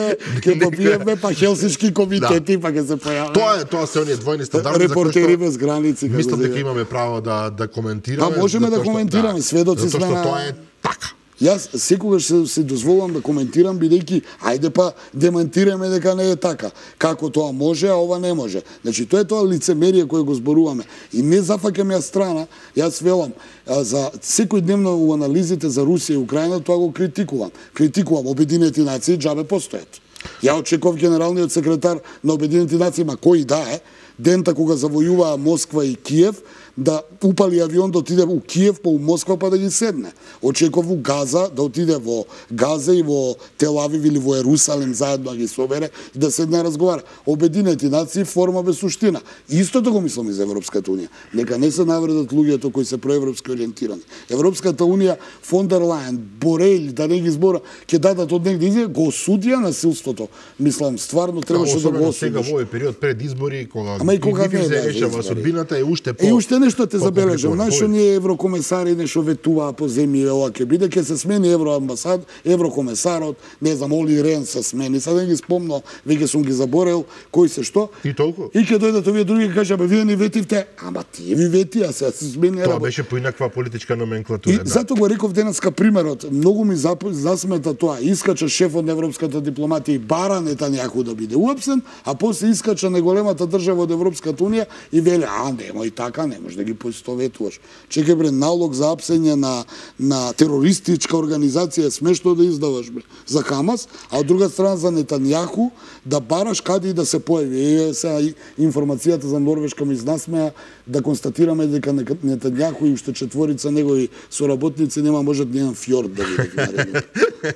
Ќе попиеме па хелсиншки комитети, па ќе се појават. Тоа е, тоа се оние двојни стандарди репортери без граници. Мислам дека имаме право да да коментираме. Па можеме да коментираме, сведоци сме на. Тоа е така. Јас секогаш се, се дозволувам да коментирам бидејќи ајде па демантираме дека не е така. Како тоа може, а ова не може. Значи тоа е тоа лицемерие кое го зборуваме. И не зафаќам ја страна, јас велам за секој дневно у анализите за Русија и Украина тоа го критикувам. Критикувам Обединети нации џабе постојат. Ја очекував генералниот секретар на Обединети нации, ма кој да е, дента кога завојуваа Москва и Киев, да упали авион да отиде у Киев, па у Москва, па да ги седне. Очекував у Газа, да отиде во Газа и во Тел-Авив или во Ерусалим заедно да ги собере и да седне разговара. Обединети нации форма без суштина. Истото го мислам и за Европската унија. Нека не се навредат луѓето кои се проевропски ориентирани. Европската унија, фон дер Лајен, Борел, да не ги збора, ќе дадат од негде изјава, го осудија насилството. Мислам, стварно требаше да го осудиш. Сега во овој период пред избори, кога Ама и кога не се решава судбината е уште по. И уште нешто те забележам. Знаеш, оние еврокомесари нешто ветуваа по земји, ова ќе биде, ќе се смени евроамбасад, еврокомесарот, не знам, Оли Рен се смени. Сега не ги спомнам, веќе сум ги заборел кој се што. И толку. И ќе дојдат овие други и кажа, бе, вие ни ветивте, ама тие ви ветија, сега се смени. Тоа беше поинаква политичка номенклатура. И да. Зато го реков денеска примерот, многу ми засмета тоа. Искача шефот на европската дипломатија и бара Нетањаху да биде уапсен, а после искача најголемата држава од Европската унија и вели, а немој така, не може да ги поистоветуваш. Чекај бре, налог за апсење на на терористичка организација е смешно да издаваш бре за Хамас, а од друга страна за Нетањаху да бараш каде и да се појави. Е, сега информацијата за Норвешка ми изнасмеа да констатираме дека Нетањаху и уште четворица негови соработници нема можат ни еден фјорд да видат наредно.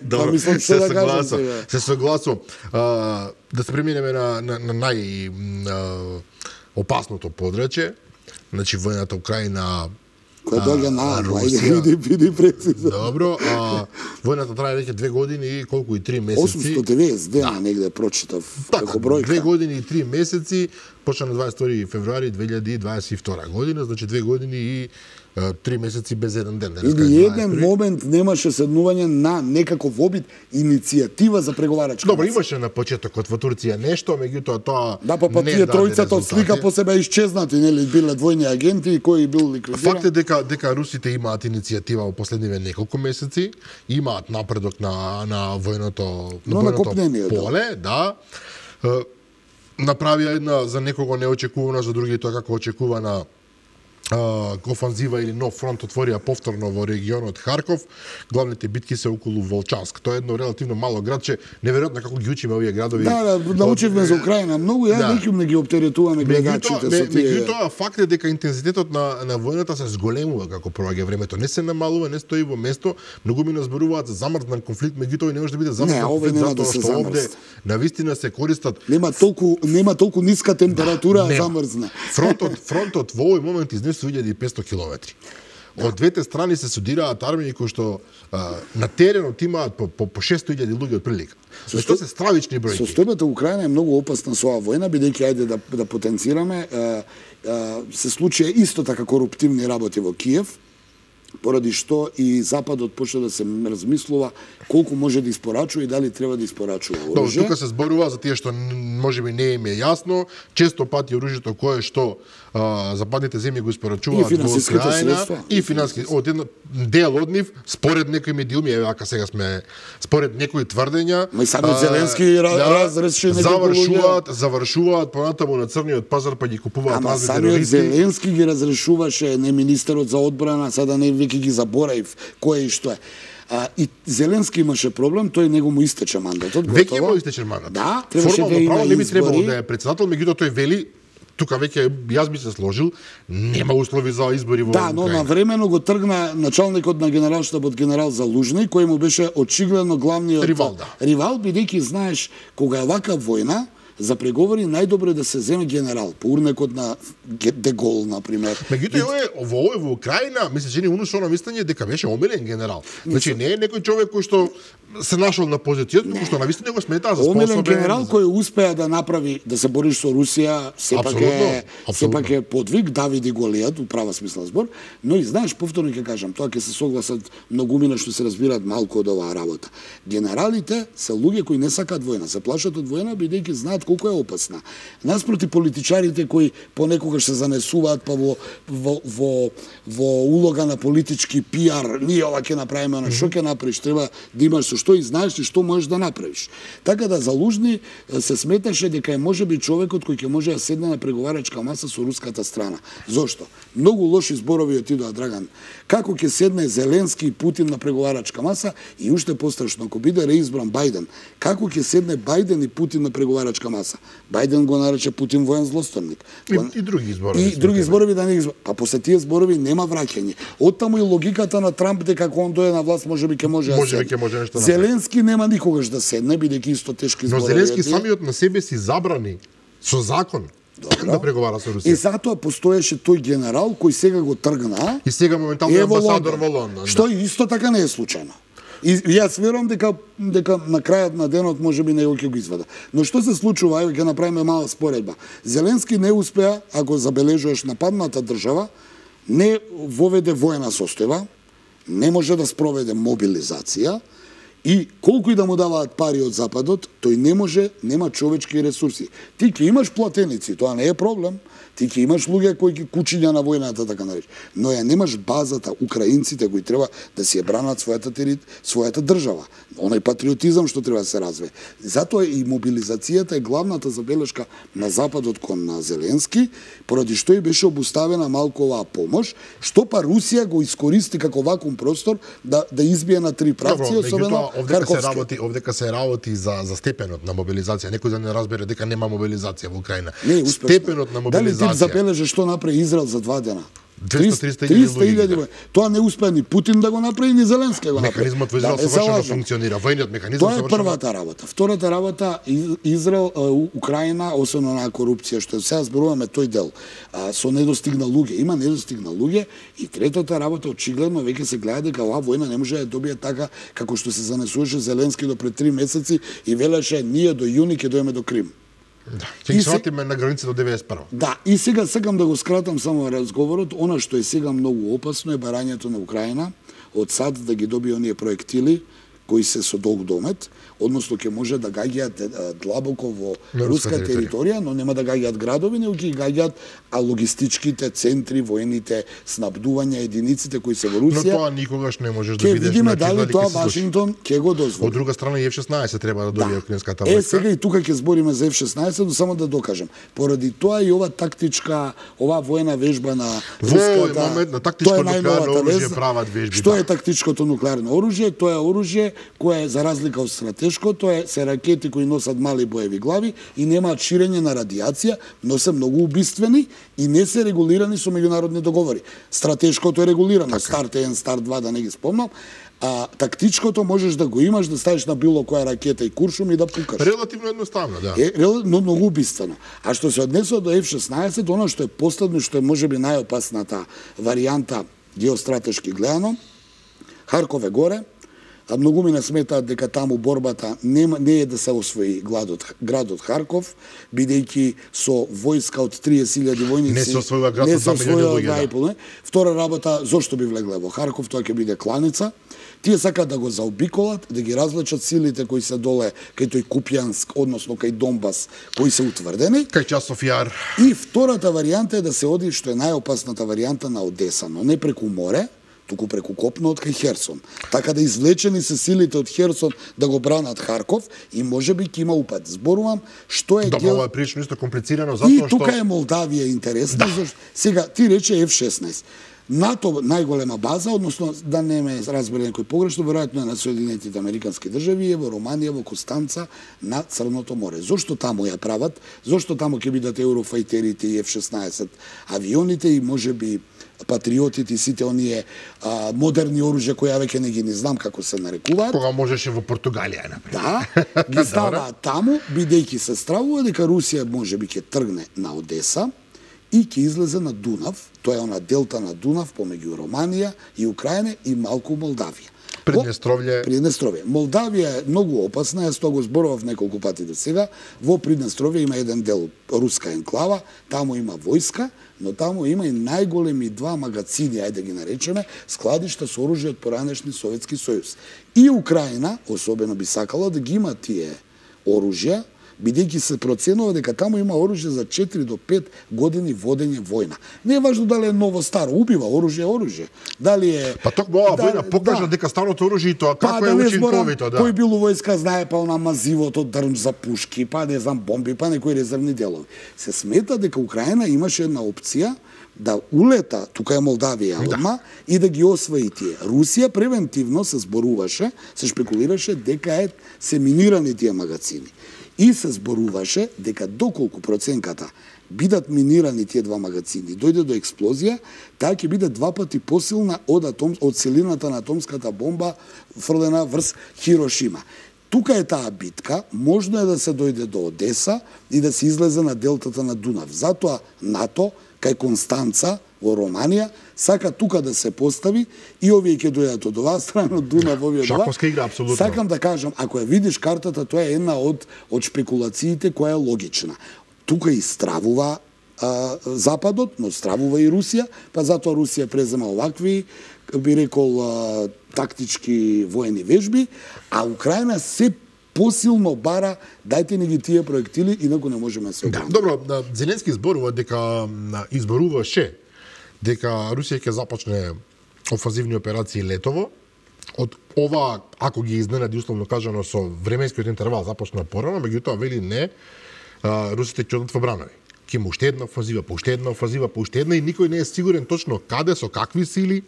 Добро, па, мислам, се да согласувам. Се согласувам. Да се преминеме на, на, на нај а, опасното подрачје. Значи војната Украина која доаѓа на Русија. Види, види прецизно. Добро, а војната трае веќе две години и колку и три месеци. осумстотин и деветдесет дена негде прочитав како бројка. Две години и три месеци, почна на дваесет и втори февруари две илјади дваесет и втора година, значи две години и три месеци без еден ден. Или еден момент немаше седнување на некаков обид иницијатива за преговарачка. Добро, имаше на почетокот во Турција нешто, меѓутоа тоа да, па, па тие тројцата од слика по себе исчезнати, нели, биле двојни агенти и кои бил ликвидиран. Факт е дека дека русите имаат иницијатива во последниве неколку месеци, имаат напредок на на војното на Но војното поле, да. да. Направија една за некого неочекувана, за други тоа како очекувана офанзива или нов фронт отворија повторно во регионот Харков. Главните битки се околу Волчанск. Тоа е едно релативно мало градче. Неверојатно како ги учиме овие градови. Да, да, научивме за Украина многу, ја да. Неким не ги оптеретуваме гледачите со тие. Меѓутоа, факт е дека интензитетот на на војната се зголемува како проаѓа времето. Не се намалува, не стои во место. Многу ми зборуваат за замрзнат конфликт, меѓутоа не може да биде замрзнат конфликт затоа да што овде навистина се користат. Нема толку нема толку ниска температура да, замрзне. Фронтот фронтот во овој момент изнесува две илјади и петстотини километри. Да. Од двете страни се судираат армии кои што а, на теренот имаат по, по, по шестоста илјади луѓе од прилика. Тоа се стравични бројки. Состојбата Украина е многу опасна со оваа војна, бидејќи ајде да да потенцираме, а, а, се случија исто така коруптивни работи во Киев. поради што и Западот почна да се размислува колку може да испорачува и дали треба да испорачува оружје. Да, тука се зборува за тие што можеби не им е јасно, често пати оружјето кое што а, западните земји го испорачуваат во Украина и финансиски од една дел од нив според некои медиуми, еве ака сега сме според некои тврдења, ма и самиот Зеленски да, разреши некои завршуваат, завршуваат понатаму на црниот пазар па ги купуваат разни терористи. Самиот Зеленски ги разрешуваше, не министерот за одбрана, сада не веќе ги заборавив кој и што е. А, и Зеленски имаше проблем, тој него му истече мандатот. Веќе му истече мандатот. Да, требаше да има не би требало избори. да е председател, меѓутоа тој вели тука веќе јас би се сложил, нема услови за избори во Да, но навремено го тргна началникот на генералштабот генерал Залужни, кој му беше очигледно главниот ривал, да. Ривал, бидејќи знаеш кога е вака војна, за преговори најдобро е да се земе генерал, по урнекот на Дегол, например. Меѓутоа е во овој во Украина, мисле че ни унушено мислење дека беше омилен генерал. Значи не е некој човек кој што се нашол на позицијата, туку што навистина го сметаа за способен. Омилен генерал кој успеа да направи да се бориш со Русија, сепак е сепак е подвиг Давид и Голијат, у права смисла збор, но и знаеш повторно ќе кажам, тоа ќе се согласат многумина што се разбираат малку од оваа работа. Генералите се луѓе кои не сакаат војна, се плашат од војна бидејќи знаат колку е опасна. Наспроти политичарите кои понекогаш се занесуваат па во во во, во улога на политички пиар, ние ова ќе направиме, на што ќе направиш, треба да имаш со што и знаеш и што можеш да направиш. Така да Залужни се сметаше дека е можеби човекот кој ќе може да седне на преговарачка маса со руската страна. Зошто? Многу лоши зборови отидоа, Драган. Како ќе седне Зеленски и Путин на преговарачка маса и уште пострашно ако биде реизбран Бајден, како ќе седне Бајден и Путин на преговарачка маса? Бајден го нарече Путин воен злосторник. И, и други зборови. И други зборови да не ги. А после тие зборови нема враќање. Оттаму и логиката на Трамп дека кога он дојде на власт можеби ќе може може да седне. Може нешто да Зеленски нема никогаш да седне, бидејќи исто тешки зборови. Но Зеленски самиот на себе си забрани со закон да преговара со Русија. И затоа постоеше тој генерал кој сега го тргна. И сега моментално е амбасадор во Лондон. Што да. Исто така не е случајно. И јас верувам дека дека на крајот на денот можеби него ќе го извада. Но што се случува, еве ќе направиме мала споредба. Зеленски не успеа, ако забележуваш нападната држава, не воведе воена состојба, не може да спроведе мобилизација и колку и да му даваат пари од Западот, тој не може, нема човечки ресурси. Ти ќе имаш платеници, тоа не е проблем. Ти ќе имаш луѓе кои ќе кучиња на војната, така нарече. Но ја немаш базата, украинците кои треба да си ја бранат својата терит, својата држава. Оној патриотизам што треба да се развие. Затоа и мобилизацијата е главната забелешка на Западот кон на Зеленски, поради што и беше обуставена малку оваа помош, што па Русија го искористи како вакуум простор да да избие на три правци, особено Харковски. Се работи, овдека се работи за за степенот на мобилизација. Некој да не разбере дека нема мобилизација во Украина. Не, степенот на мобилизација. Дали ти забележа што направи Израел за два дена? двеста-триста илјади. Тоа не успеа ни Путин да го направи, ни Зеленски го направи. Механизмот во Израел совршено функционира. Војниот механизам совршено. Тоа е првата работа. Втората работа, Израел, Украина, освен на корупција, што сега зборуваме тој дел, со недостигна луѓе. Има недостигна луѓе и третата работа, очигледно веќе се гледа дека оваа војна не може да добие така како што се занесуваше Зеленски до пред три месеци и велеше ние до јуни ќе дојдеме до Крим. Да, ќе ги сватиме на граница до деветдесет и прва. Да, и сега сакам да го скратам само разговорот. Она што е сега многу опасно е барањето на Украина од САД да ги добие оние проектили кои се со долг домет, односно ќе може да гаѓаат длабоко во руска територија, но нема да гаѓаат градови, него ќе гаѓаат а логистичките центри, воените снабдувања, единиците кои се во Русија. Но тоа никогаш не можеш да видиш. видиш. Ќе видиме дали тоа Вашингтон ќе го дозволи. Од друга страна и Еф шеснаесет треба да добие украинската војска. Е, сега и тука ќе збориме за Еф шеснаесет, но само да докажам. Поради тоа и ова тактичка, ова воена вежба на руската, во момент на тактичко нуклеарно оружје прават вежби. Што е тактичкото нуклеарно оружје? Тоа е оружје кое за разлика од стратешко, тоа е се ракети кои носат мали боеви глави и немаат ширење на радиација, но се многу убиствени и не се регулирани со меѓународни договори. Стратешкото е регулирано, Старт еден, Старт два, да не ги спомнам, а тактичкото можеш да го имаш, да ставиш на било која ракета и куршум и да пукаш. Релативно едноставно, да. Е, но многу убиствено. А што се однесува до Еф шеснаесет, оно што е последно, што е можеби најопасната варијанта геостратешки гледано, Харков е горе, А многу ми не сметаат дека таму борбата нема, не е да се освои градот, градот Харков, бидејќи со војска од триесет илјади војници не се освојува град не со се два милиони освојува луѓе. два и пол, не? Втора работа, зошто би влегле во Харков, тоа ќе биде кланица. Тие сакаат да го заобиколат, да ги развлечат силите кои се доле кај тој Купјанск, односно кај Донбас, кои се утврдени. Кај Часов јар. И втората варијанта е да се оди, што е најопасната варијанта, на Одеса, но не преку море, туку преку копно од кај Херсон. Така да извлечени се силите од Херсон да го бранат Харков и можеби ќе има упад. Зборувам што е Добро, гел... ова е прилично исто комплицирано, И затоа што... тука е Молдавија интересна, да. Зашто... Сега, ти рече еф шеснаесет. НАТО најголема база, односно, да не ме разбере некој погрешно, веројатно е на Соединетите Американски држави, е во Романија, во Костанца, на Црното море. Зошто таму ја прават? Зошто таму ќе бидат Eurofighterите и еф шеснаесет авионите и можеби патриотите и сите оние а, модерни оружја кои ја веќе не ги не знам како се нарекуваат. Кога можеше во Португалија, например. Да, ги ставаат таму, бидејќи се стравува дека Русија можеби ќе тргне на Одеса и ќе излезе на Дунав, тоа е она делта на Дунав помеѓу Романија и Украина и малку Молдавија. Приднестровје. Приднестровје. Молдавија е многу опасна, јас тоа го зборував неколку пати до сега. Во Приднестровје има еден дел руска енклава, таму има војска, но таму има и најголеми два магацини, ајде да ги наречеме, складишта со оружје од поранешни Советски сојуз. И Украина, особено би сакала да ги има тие оружја, бидејќи се проценува дека таму има оружје за четири до пет години водење војна. Не е важно дали е ново старо, убива, оружје е оружје. Дали е Па токму оваа да, војна покажа да. дека старото оружје и тоа како па, е да учинковито, да. Кој бил у војска знае, па она мазивото дрм за пушки, па не знам бомби, па некои резервни делови. Се смета дека Украина имаше една опција да улета, тука е Молдавија одма, да. И да ги освои тие. Русија превентивно се зборуваше, се шпекулираше дека е се минирани тие магазини. И се зборуваше дека доколку проценката бидат минирани тие два магазини, дојде до експлозија, таа ќе биде два пати посилна од атом, од силината на атомската бомба фрлена врз Хирошима. Тука е таа битка, можно е да се дојде до Одеса и да се излезе на делтата на Дунав. Затоа НАТО кај Констанца во Романија сака тука да се постави и овие ќе дојдат од оваа страна, од Дунав, овие од оваа. Шаковска игра, апсолутно. Сакам да кажам, ако ја видиш картата, тоа е една од од шпекулациите која е логична. Тука и стравува а, Западот, но стравува и Русија, па затоа Русија презема овакви, би рекол, а, тактички воени вежби, а Украина се посилно бара, дајте ни ги тие проектили, инаку не можеме да се Да, обраним. добро, Зеленски зборува дека изборуваше дека Русија ќе започне офанзивни операции летово. Од ова, ако ги изненади условно кажано со временскиот интервал започна порано, меѓутоа вели не, русите ќе одат во бранови. Ќе му уште една офанзива, по уште една офанзива, по уште една и никој не е сигурен точно каде, со какви сили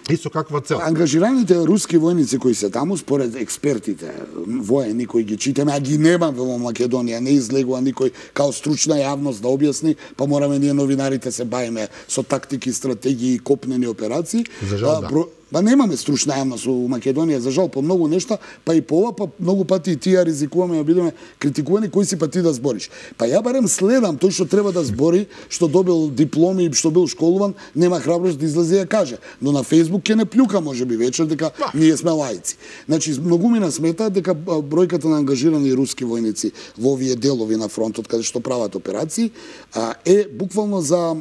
и со каква цел. Ангажираните руски војници кои се таму, според експертите воени кои ги читаме, а ги нема во Македонија, не излегува никој као стручна јавност да објасни, па мораме ние новинарите се бавиме со тактики, стратегии и копнени операции. За жал, да. Бро... Па немаме стручна јавност у Македонија, за жал, по многу нешта, па и по ова, па многу пати и тие ризикуваме да бидеме критикувани, кој си па ти да збориш. Па ја барем следам тој што треба да збори, што добил дипломи и што бил школуван, нема храброст да излезе и ја каже. Но на Фејсбук ќе не плюка можеби вечер дека ние сме лаици. Значи многу ми насмета дека бројката на ангажирани руски војници во овие делови на фронтот каде што прават операции е буквално за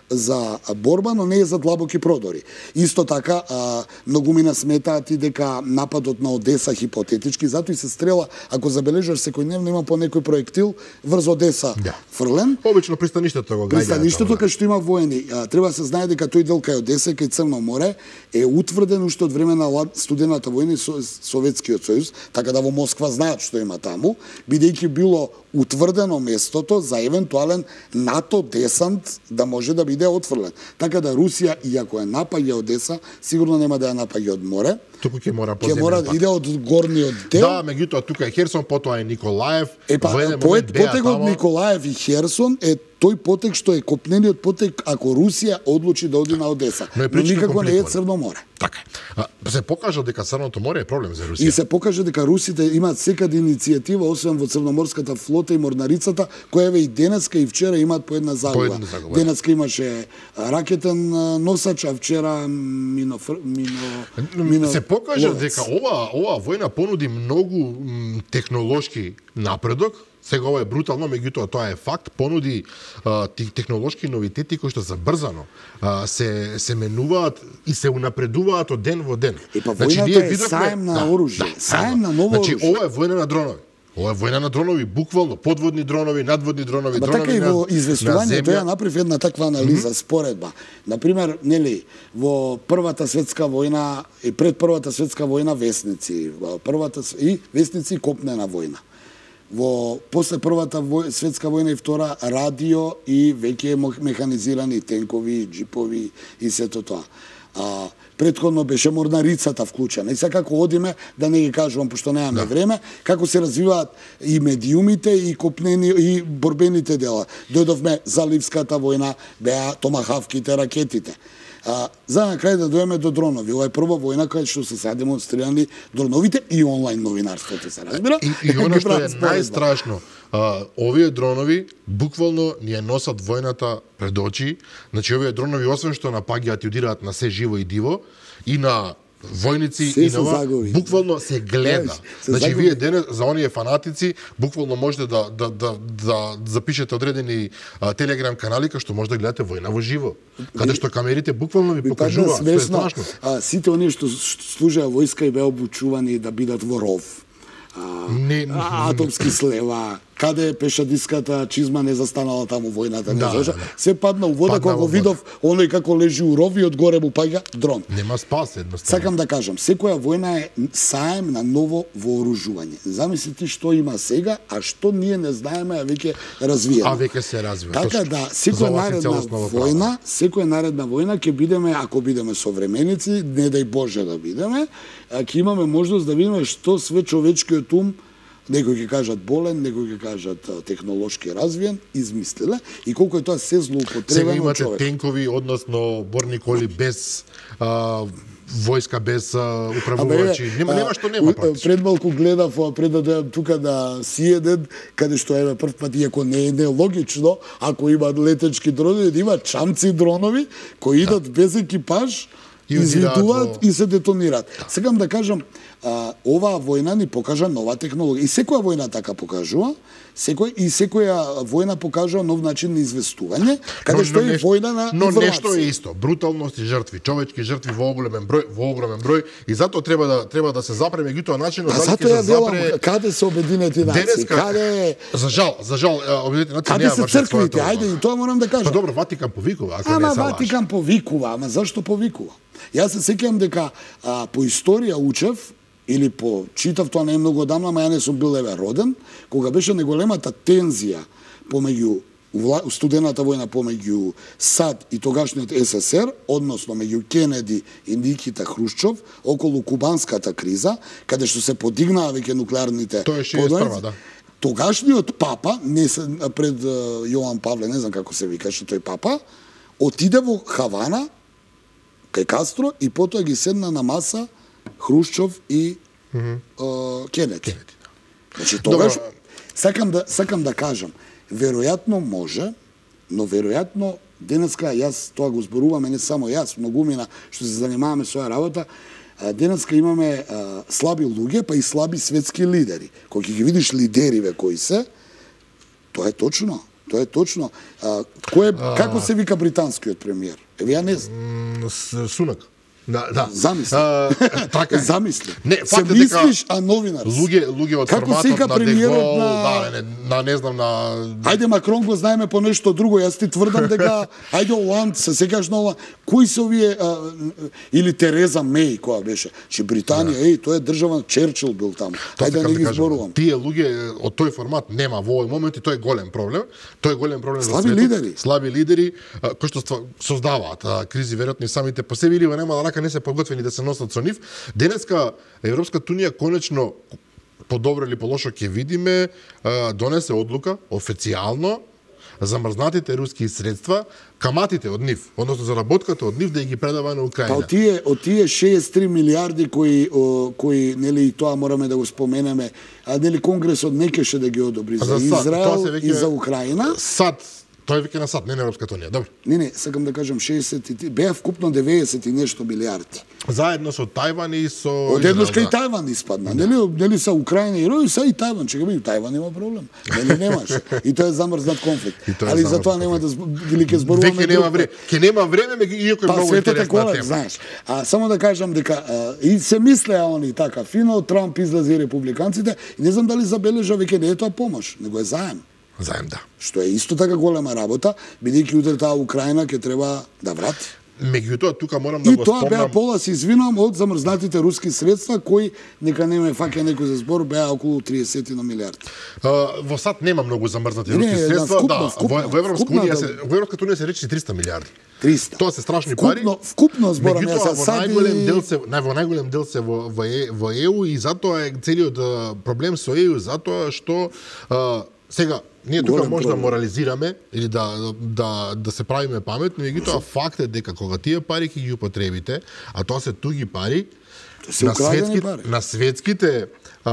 за борба, но не е за длабоки продори. Исто така, а, многу ми насметаат и дека нападот на Одеса хипотетички, затоа и се стрела, ако забележаш секојдневно има по некој проектил врз Одеса да. Фрлен. Обично пристаништето го гаѓа. Пристаништето кај што има воени. А, треба се знае дека тој дел кај Одеса и кај Црно море е утврден уште од време на студената војна и со, Советскиот сојуз, така да во Москва знаат што има таму, бидејќи било утврдено местото за евентуален НАТО десант да може да биде отфрлен. Така да Русија, иако е напаѓа Одеса, сигурно нема да ја напаѓа од море. Туку ќе мора ќе мора да иде од горниот дел. Да, меѓутоа тука е Херсон, потоа е Николаев. Е па, поет, потек од Николаев и Херсон е тој потек што е копнениот потек ако Русија одлучи да оди на Одеса. Но, Но никако не е Црно море. Така. Се покажа дека Црното море е проблем за Русија. И се покажа дека русите имаат секаде иницијатива, освен во Црноморската флота и морнарицата, која еве и денеска и вчера имаат по една загуба. Денеска имаше ракетен носач, а вчера мино, мино, мино... Се покажа ловец. дека ова ова војна понуди многу м, технолошки напредок. Сега ова е брутално, меѓутоа тоа е факт, понуди а, технолошки новитети кои што забрзано а, се се менуваат и се унапредуваат од ден во ден. И па војната е саем на оружје, саем на ново значи, оружје. ова е војна на дронови. Ова е војна на дронови, буквално, подводни дронови, надводни дронови, Ба дронови така и на, во на известување земја. тој направив една таква анализа, mm -hmm. споредба. Например, нели, во Првата светска војна и пред Првата светска војна весници, во првата с- и весници и копнена војна. Во после Првата вој, светска војна и Втора радио и веќе мо- механизирани тенкови, джипови и сето тоа. А, предходно беше морнарицата вклучена. И сега како одиме, да не ги кажувам, пошто немаме да. време, како се развиваат и медиумите, и копнени, и борбените дела. Дојдовме за Ливската војна, беа томахавките, ракетите. А, за на крај да дојдеме до дронови. Ова е прва војна кај што се сега демонстрирани дроновите и онлайн новинарството, се разбира. И, и она Ги што е прават споредба. најстрашно, а, овие дронови буквално ни ја носат војната пред очи. Значи овие дронови освен што напаѓаат и удираат на се живо и диво и на војници Се и се на ова, загови. буквално се гледа. Знаеш, се Значи загови. вие денес за оние фанатици буквално можете да да да да запишете одредени а, телеграм канали кај што може да гледате војна во живо. Каде што камерите буквално ви Ми падна покажуваат, што е смешно. страшно. А, сите оние што што служеа војска и беа обучувани да бидат во ров. А, Не- а, атомски слева, каде е пешадиската чизма не застанала таму војната, не Да, зажа. да, да. Се падна у вода Падна кога во го вода. видов оној како лежи у ров и одгоре му паѓа дрон. Нема спас едноставно. Сакам да кажам, секоја војна е саем на ново вооружување. Замисли ти што има сега, а што ние не знаеме, а веќе развиено. А веќе се развива. Така точно. да, За секоја ова си наредна целосно во право. војна, секоја наредна војна ќе бидеме, ако бидеме современици, не дај Боже да бидеме, а, ќе имаме можност да видиме што све човечкиот ум, некои ќе кажат болен, некои ќе кажат а, технолошки развиен, измислиле и колку е тоа се Сега злоупотребено од имате човек. тенкови, односно борни коли без а, војска, без а, Абе, управувачи. Нема, нема што нема практично. Пред малку гледав, а, пред да дојам тука на Сиеден, каде што еве прв пат, иако не е нелогично, ако има летечки дронови, да има чамци дронови кои идат без екипаж, И удираат излетуваат во- и се детонираат. Сакам да кажам, а, оваа војна ни покажа нова технологија. И секоја војна така покажува, секој и секоја војна покажува нов начин на известување, каде што е нешто- војна на но информација. нешто е исто, бруталност и жртви, човечки жртви во оголемен број, во огромен број и затоа треба да треба да се запре меѓутоа начинот А дали затоа ќе ја се велам, запре каде се Обединети нации, денеска. каде За жал, за жал, Обединети нации Каде нема се вршат црквите? својата Ајде, улога. и тоа морам да Па кажам. добро, Ватикан повикува, ако Ама не се лаже. Ватикан повикува, ама зашто повикува? Јас се сеќавам дека а, по историја учев, или по читав, тоа не е многу одамна, ама ја не сум бил еве роден, кога беше неголемата тензија помеѓу вла- студената војна помеѓу САД и тогашниот СССР, односно меѓу Кенеди и Никита Хрушчов, околу кубанската криза, каде што се подигнаа веќе нуклеарните Тоа е шеесет и прва, подојници. да. Тогашниот папа, не се, пред е, Јован Павле, не знам како се викаше тој папа, отиде во Хавана, кај Кастро, и потоа ги седна на маса Хрушчов и mm -hmm. е, Кенеди. Значи, тогаш, Добро. сакам да, сакам да кажам, веројатно може, но веројатно денеска, јас тоа го зборуваме, не само јас, многумина што се занимаваме со оваа работа, а, денеска имаме а, слаби луѓе, па и слаби светски лидери. Кога ќе ги видиш лидериве кои се, тоа е точно. Тоа е точно. А, кој е, како се вика британскиот премиер? Еве ја не знам. М, с- Сунак. Да, да. Замисли. А, така е. Замисли. Не, се факт е дека мислиш, а новинар си. Луѓе, луѓе од Како се вика форматот на премиерот Дегол, на- да, не, на не знам на Ајде Макрон го знаеме по нешто друго, јас ти тврдам дека ајде Оланд, се сеќаш на ова, кои се овие а, или Тереза Меј која беше, че Британија, еј, тоа е држава, Черчил бил таму. Тоа Ајде да сакам не ги кажам, зборувам. Тие луѓе од тој формат нема во овој момент и тој е голем проблем. Тој е голем проблем за Слаби светот. лидери. Слаби лидери а, кои што ства- создаваат а, кризи веројатно и самите по себе или во немала рака не се подготвени да се носат со нив. Денеска Европската унија конечно по добро или по лошо ќе видиме а, донесе одлука официјално замрзнатите руски средства, каматите од нив, односно заработката од нив да ги предава на Па Украина. од тие, од тие шеесет и три милиарди кои, о, кои, нели, и тоа мораме да го споменеме, а нели Конгресот не кеше да ги одобри за, За САД, тоа Израел се веќе- и за Украина. САД Тоа е веќе на САД, не на Европската унија. Добро. Не, не, сакам да кажам шеесет и беа вкупно деветдесет и нешто милиарди. Заедно со Тајван и со Од еднош кај Тајван испадна. Нели, нели са Украина и Руси, са и Тајван, чека би, Тајван има проблем. Нели немаш. И тоа е замрзнат конфликт. Али за тоа нема да или ќе зборуваме. Веќе нема време. Ќе нема време, иако е па, многу интересна колет, тема. Знаеш. А само да кажам дека а, и се мислеа они така фино, Трамп излезе и републиканците и не знам дали забележа веќе не е тоа помош, него е заем. Заем, да. Што е исто така голема работа, бидејќи утре таа Украина ќе треба да врати. Меѓутоа, тука морам да и го тоа спомнам... беа пола, се извинувам, од замрзнатите руски средства, кои, нека не ме фаќа некој за збор, беа околу триесет на милиарди. Uh, во САД нема многу замрзнати не, руски да, средства, вкупно, да, вкупно, во, во Европска вкупно, унија да. се во Европската унија се речи триста милиарди. триста. Тоа се страшни вкупно, пари. Вкупно зборам, јас Меѓутоа, се во сади... најголем дел се нај во најголем дел се во во, е, во Е У и затоа е целиот а, проблем со Е У затоа што а, сега ние тука Голем може да проблем. морализираме или да да да се правиме паметни, меѓутоа факт е дека кога тие пари ќе ги употребите, а тоа се туги пари, се на украдени светски, пари. на светските а,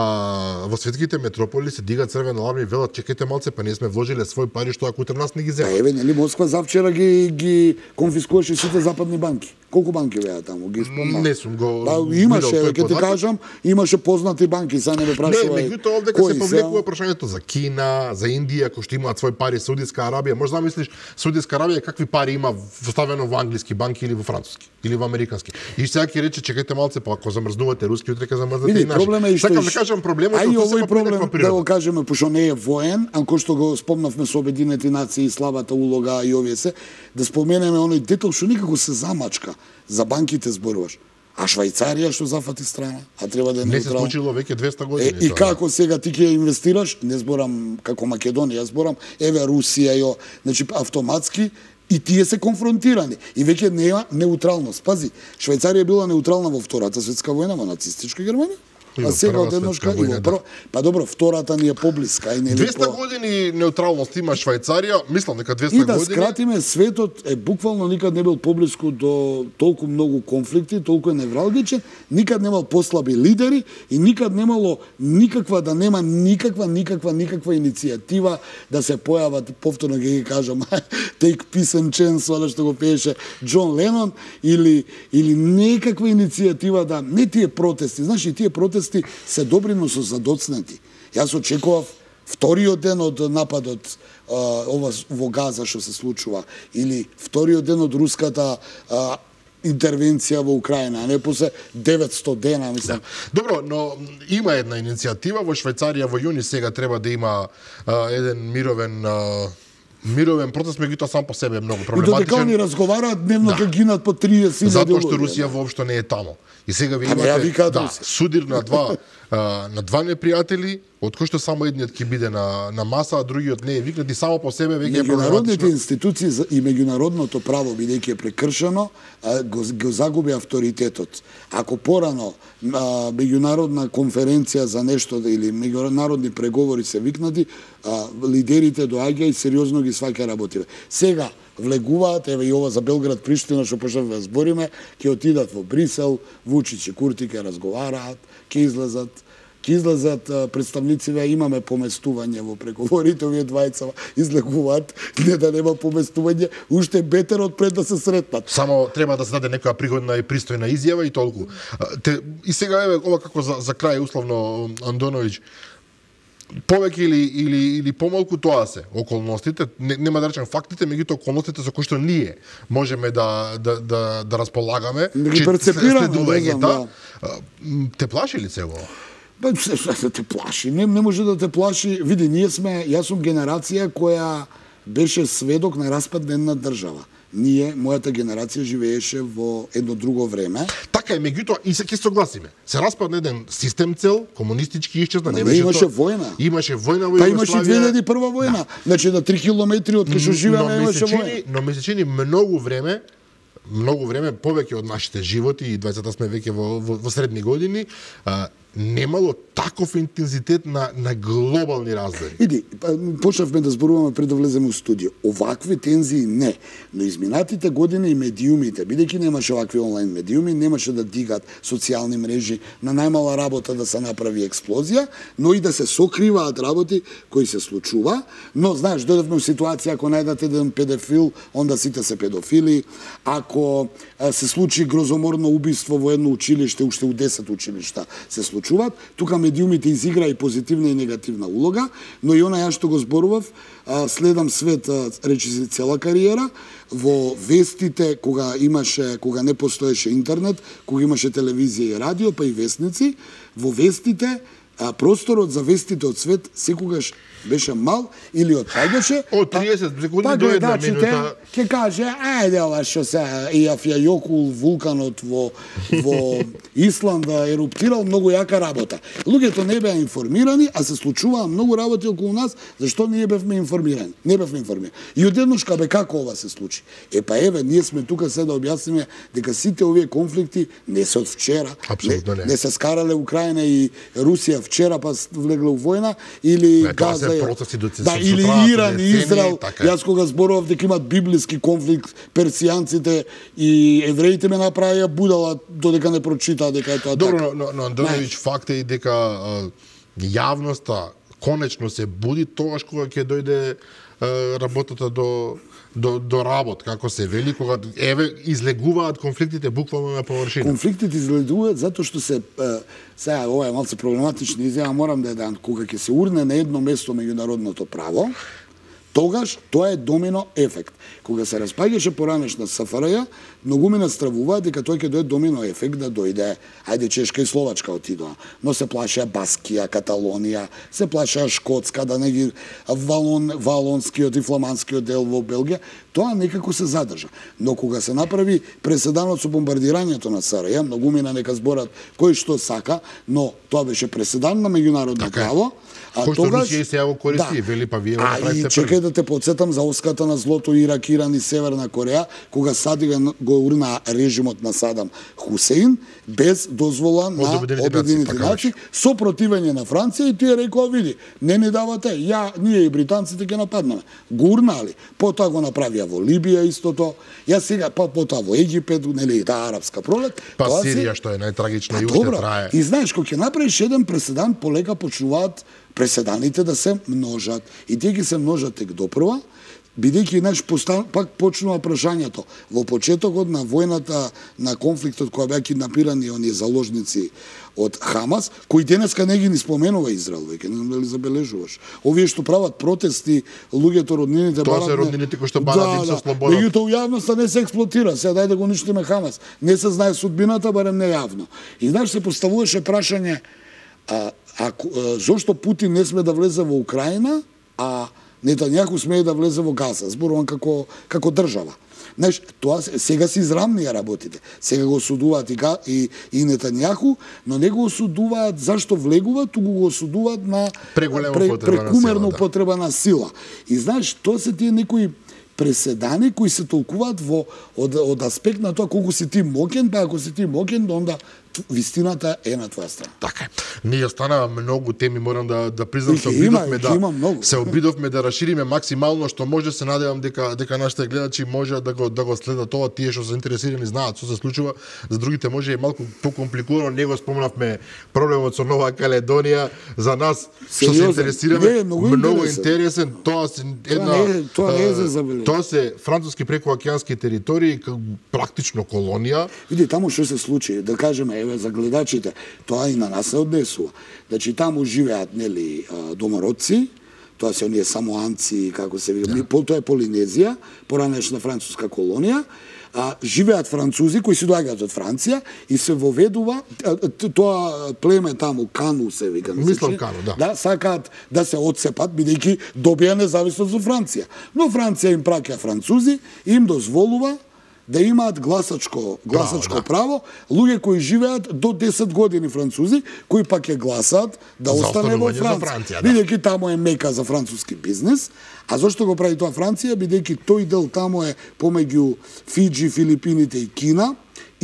во светските метрополи се дига црвен аларм и велат чекајте малце, па ние сме вложиле свој пари што ако утре нас не ги Па земат. еве, нели Москва завчера ги ги конфискуваше сите западни банки. Колку банки беа таму? Ги спомнав. Не сум го Па видел имаше, тој ќе ти податок. кажам, имаше познати банки, сега не ме Не, прашувај. меѓутоа овде кога се кои повлекува прашањето за Кина, за Индија, кои што имаат свои пари, Саудитска Арабија, може да замислиш Саудитска Арабија какви пари има вставено во англиски банки или во француски или во американски. И сега ќе рече чекајте малце, па ако замрзнувате руски, утре ќе замрзнете Види, и наши. проблем е и што Сакам и- да кажам проблемот А и е тоа овој се проблем, да природа. го кажеме, пошто не е воен, а кој што го спомнавме со Обединените нации и слабата улога и овие се, да споменеме оној детал што никако се замачка. За банките зборуваш. А Швајцарија што зафати страна, а треба да е Не се неутрална. случило веќе двеста Е, години. и тоа. како сега ти ќе инвестираш, не зборам како Македонија, зборам еве Русија, јо, значи автоматски и тие се конфронтирани. И веќе нема неутралност. Пази, Швајцарија била неутрална во Втората светска војна во нацистичка Германија. И А во сега Прва од едношка светска и во војна, прва. Па добро, втората ни е поблиска и нели двеста по... години неутралност има Швајцарија, мислам дека двеста И да години. скратиме, светот е буквално никад не бил поблиску до толку многу конфликти, толку е невралгичен, никад немал послаби лидери и никад немало никаква, да нема никаква, никаква, никаква иницијатива да се појават, повторно ќе ги кажам, Take Peace and Chance, оно што го пееше Џон Ленон, или, или некаква иницијатива да, не тие протести, знаеш, и тие протести се добри, но со задоцнати. Јас очекував вториот ден од нападот а, ова во Газа што се случува, или вториот ден од руската а, интервенција во Украина, а не после деветсто дена, мислам. Добро, но има една иницијатива во Швајцарија во јуни сега треба да има а, еден мировен а, мировен протест, меѓутоа сам по себе е многу И додека проблематичен. они разговараат, дневно Да. ќе гинат по триесет Затоа што луѓе. Русија воопшто не е таму. И сега ви А не ја имате викаат да, Русија. судир на два а, на два непријатели, од кои што само едниот ќе биде на на маса, а другиот не е викнат и само по себе веќе е Меѓународните проблематично. институции за- и меѓународното право, бидејќи е прекршено, а, го, го загуби авторитетот. Ако порано а, меѓународна конференција за нешто или меѓународни преговори се викнати, а, лидерите доаѓа и сериозно ги сваќа работите. Сега влегуваат, еве и ова за Белград Приштина што почнавме да збориме, ќе отидат во Брисел, Вучич и Курти ќе разговараат, ќе излезат ќе излезат а, представнициве, имаме поместување во преговорите, овие двајца излегуваат, не да нема поместување, уште бетер од пред да се сретнат. Само треба да се даде некоја пригодна и пристојна изјава и толку. А, Те, и сега еве ова како за, за крај условно Андоновиќ, повеќе или или или помалку тоа се околностите, не, нема да речам фактите, меѓутоа околностите со кои што ние можеме да да да, да располагаме, Да ги че перцепираме, следување, не знам, да. А, м, Те плаши ли се ова? Па се се те плаши, не, не може да те плаши. Види, ние сме, јас сум генерација која беше сведок на распад на една држава. Ние, мојата генерација живееше во едно друго време. Така е, меѓутоа и се ќе согласиме. Се распадна еден систем цел, комунистички исчезна, Ма не не беше имаше тоа. војна. Имаше војна во Па имаше и Југославија. две илјади и прва војна. Значи на три километри од кај што живееме но ми имаше се чини, војна. но ми се чини многу време, многу време повеќе од нашите животи и двајцата сме веќе во, во, во средни години, а, немало таков интензитет на, на глобални раздели. Иди, почнавме да зборуваме пред да влеземе у студио. Овакви тензии не, но изминатите години и медиумите, бидејќи немаше овакви онлайн медиуми, немаше да дигат социјални мрежи, на најмала работа да се направи експлозија, но и да се сокриваат работи кои се случува. Но, знаеш, дојдовме у ситуација, ако најдете еден педофил, онда сите се педофили. Ако се случи грозоморно убиство во едно училиште, уште у десет училишта се случуваат, тука медиумите изигра и позитивна и негативна улога, но и она ја што го зборував, следам свет, речи се цела кариера, во вестите, кога имаше, кога не постоеше интернет, кога имаше телевизија и радио, па и вестници, во вестите, просторот за вестите од свет секогаш беше мал или отпаѓаше. Од триесет секунди па, до една минута. Ќе каже, ајде ова што се Ијафјајокул вулканот во во Исланда еруптирал, многу јака работа. Луѓето не беа информирани, а се случуваа многу работи околу нас, зашто ние бевме информирани. Не бевме информирани. И одеднаш кабе како ова се случи. Е па еве, ние сме тука се да објасниме дека сите овие конфликти не се од вчера. Апсолутно не. Не се скарале Украина и Русија вчера па влегле у војна или Газа процеси до да, или Иран и Израел. Јас кога зборував дека имат библиски конфликт, персијанците и евреите ме направија будала додека не прочитаа дека е тоа Добро, така. но, но Андоновиќ, факт е и дека а, јавноста конечно се буди тогаш кога ќе дојде а, работата до до до работ, како се вели, кога еве излегуваат конфликтите буквално на површина. Конфликтите излегуваат затоа што се е, сега ова е малку проблематична изјава, морам да ја дам, кога ќе се урне на едно место меѓународното право, тогаш тоа е домино ефект. Кога се распаѓаше поранешна СФРЈ, многумина стравуваат дека тој ќе дојде домино ефект да дојде, ајде Чешка и Словачка отидоа, но се плашеа Баскија, Каталонија, се плашеа Шкотска, да не ги Валон, Валонскиот и Фламандскиот дел во Белгија, тоа некако се задржа. Но кога се направи преседанот со бомбардирањето на СРЈ, многумина нека зборат кој што сака, но тоа беше преседан на меѓународно право. А кој што Русија се ја го користи, да. Вели па вие го направите. А и чекај да те подсетам за оската на злото Ирак, Иран и Северна Кореја, кога Садига го урна режимот на Садам Хусеин без дозвола на Обединените нации, со противење на Франција, и тие рекоа, види, не ни давате, ја, ние и британците ќе нападнеме. Го урнали, потоа го направија во Либија истото, ја сега па потоа во Египет, нели, таа арапска пролет. Па Сирија што е најтрагична и уште трае. И знаеш, кога ќе направиш еден преседан, полека почнуваат преседаните да се множат. И тие ќе се множат тек допрва, бидејќи наш постан, пак почнува прашањето. Во почетокот на војната, на конфликтот која беа киднапирани оние заложници од Хамас, кои денеска не ги ни споменува Израел, веќе не знам дали забележуваш. Овие што прават протести, луѓето роднините барат. Тоа се роднините кои што барат им со слобода. Меѓутоа јавноста не се експлотира, сега дај да го уништиме Хамас. Не се знае судбината, барем не јавно. И знаеш, се поставуваше прашање, а, а, а зошто Путин не сме да влезе во Украина, а Нетањаху смее да влезе во Газа, зборувам како како држава. Знаеш, тоа сега се израмнија работите. Сега го осудуваат и, и, и Нетањаху, но не го осудуваат зашто влегува, туку го осудуваат на прекумерно употреба на сила. И знаеш, тоа се тие некои преседани кои се толкуваат во од, од аспект на тоа колку си ти мокен, па ако си ти мокен, онда вистината е на твоја страна. Така е. Ние останаа многу теми, морам да да признам, се обидовме да се обидовме да расшириме максимално што може, се надевам дека дека нашите гледачи може да го да го следат ова, тие што се интересирани знаат што се случува, за другите може е малку покомпликувано, не го спомнавме проблемот со Нова Каледонија, за нас што се интересираме, не, многу, многу интересен. интересен, тоа се една тоа не, тоа не е за забележка. Тоа се француски прекоокеански територии, практично колонија. Види таму што се случи, да кажеме, еве за гледачите, тоа и на нас се однесува. Значи таму живеат, нели, домородци, тоа се оние самоанци, како се вика, да. Тоа е Полинезија, поранешна француска колонија. А, живеат французи кои се доаѓаат од Франција и се воведува тоа племе таму, Кану се вика. Мислам Кану, да. Да, сакаат да се отцепат, бидејќи добија независност од Франција. Но Франција им праќа французи и им дозволува да имаат гласачко гласачко право, да. Луѓе кои живеат до десет години французи, кои пак ќе гласаат да за остане во Франција. Франција да. Бидејќи таму е мека за француски бизнес. А зошто го прави тоа Франција? Бидејќи тој дел таму е помеѓу Фиџи, Филипините и Кина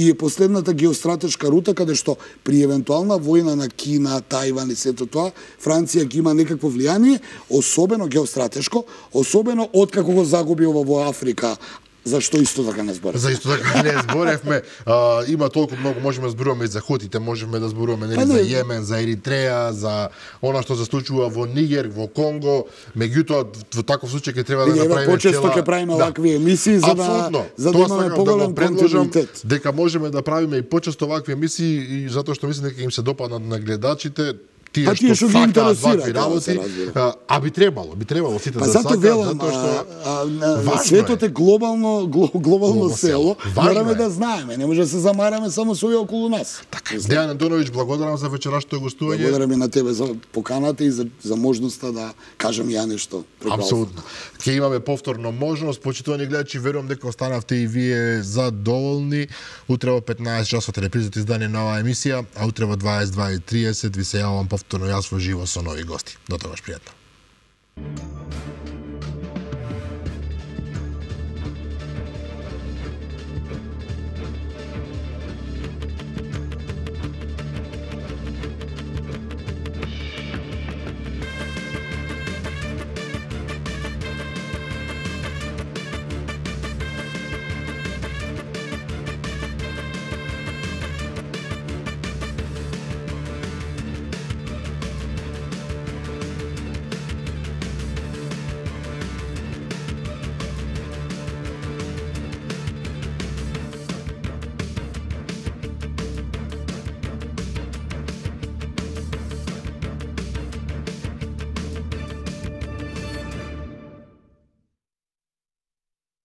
и е последната геостратешка рута каде што при евентуална војна на Кина, Тајван и сето тоа, Франција ќе има некакво влијание, особено геостратешко, особено откако го загуби ова во Африка. Зашто исто така не зборевме? За исто така не зборевме. А, има толку многу, можеме да зборуваме и за Хотите, можеме да зборуваме нели, за Јемен, за Еритреја, за она што се случува во Нигер, во Конго. Меѓутоа, во таков случај ќе треба да направиме почесто ќе правиме овакви емисии за да за да имаме поголем континуитет. Дека можеме да правиме и почесто овакви емисии, и затоа што мислам дека им се допаднат на гледачите. Тие па, што, што ги интересира работи, а, а би требало, би требало сите па, да зато сакаат, велам, затоа што а, а, светот е глобално глобално, глобално село, мораме да знаеме, не може да се замараме само со овие околу нас. Така, Дејан Антоновиќ, благодарам за вечерашното гостување. Благодарам и на тебе за поканата и за, за можноста да кажам ја нешто. Апсолутно. Ќе имаме повторно можност, почитувани гледачи, верувам дека останавте и вие задоволни. Утре во петнаесет часот репризата издание на оваа емисија, а утре во дваесет и два и триесет ви се јавам повторно јас во живо со нови гости. До тогаш, пријатно.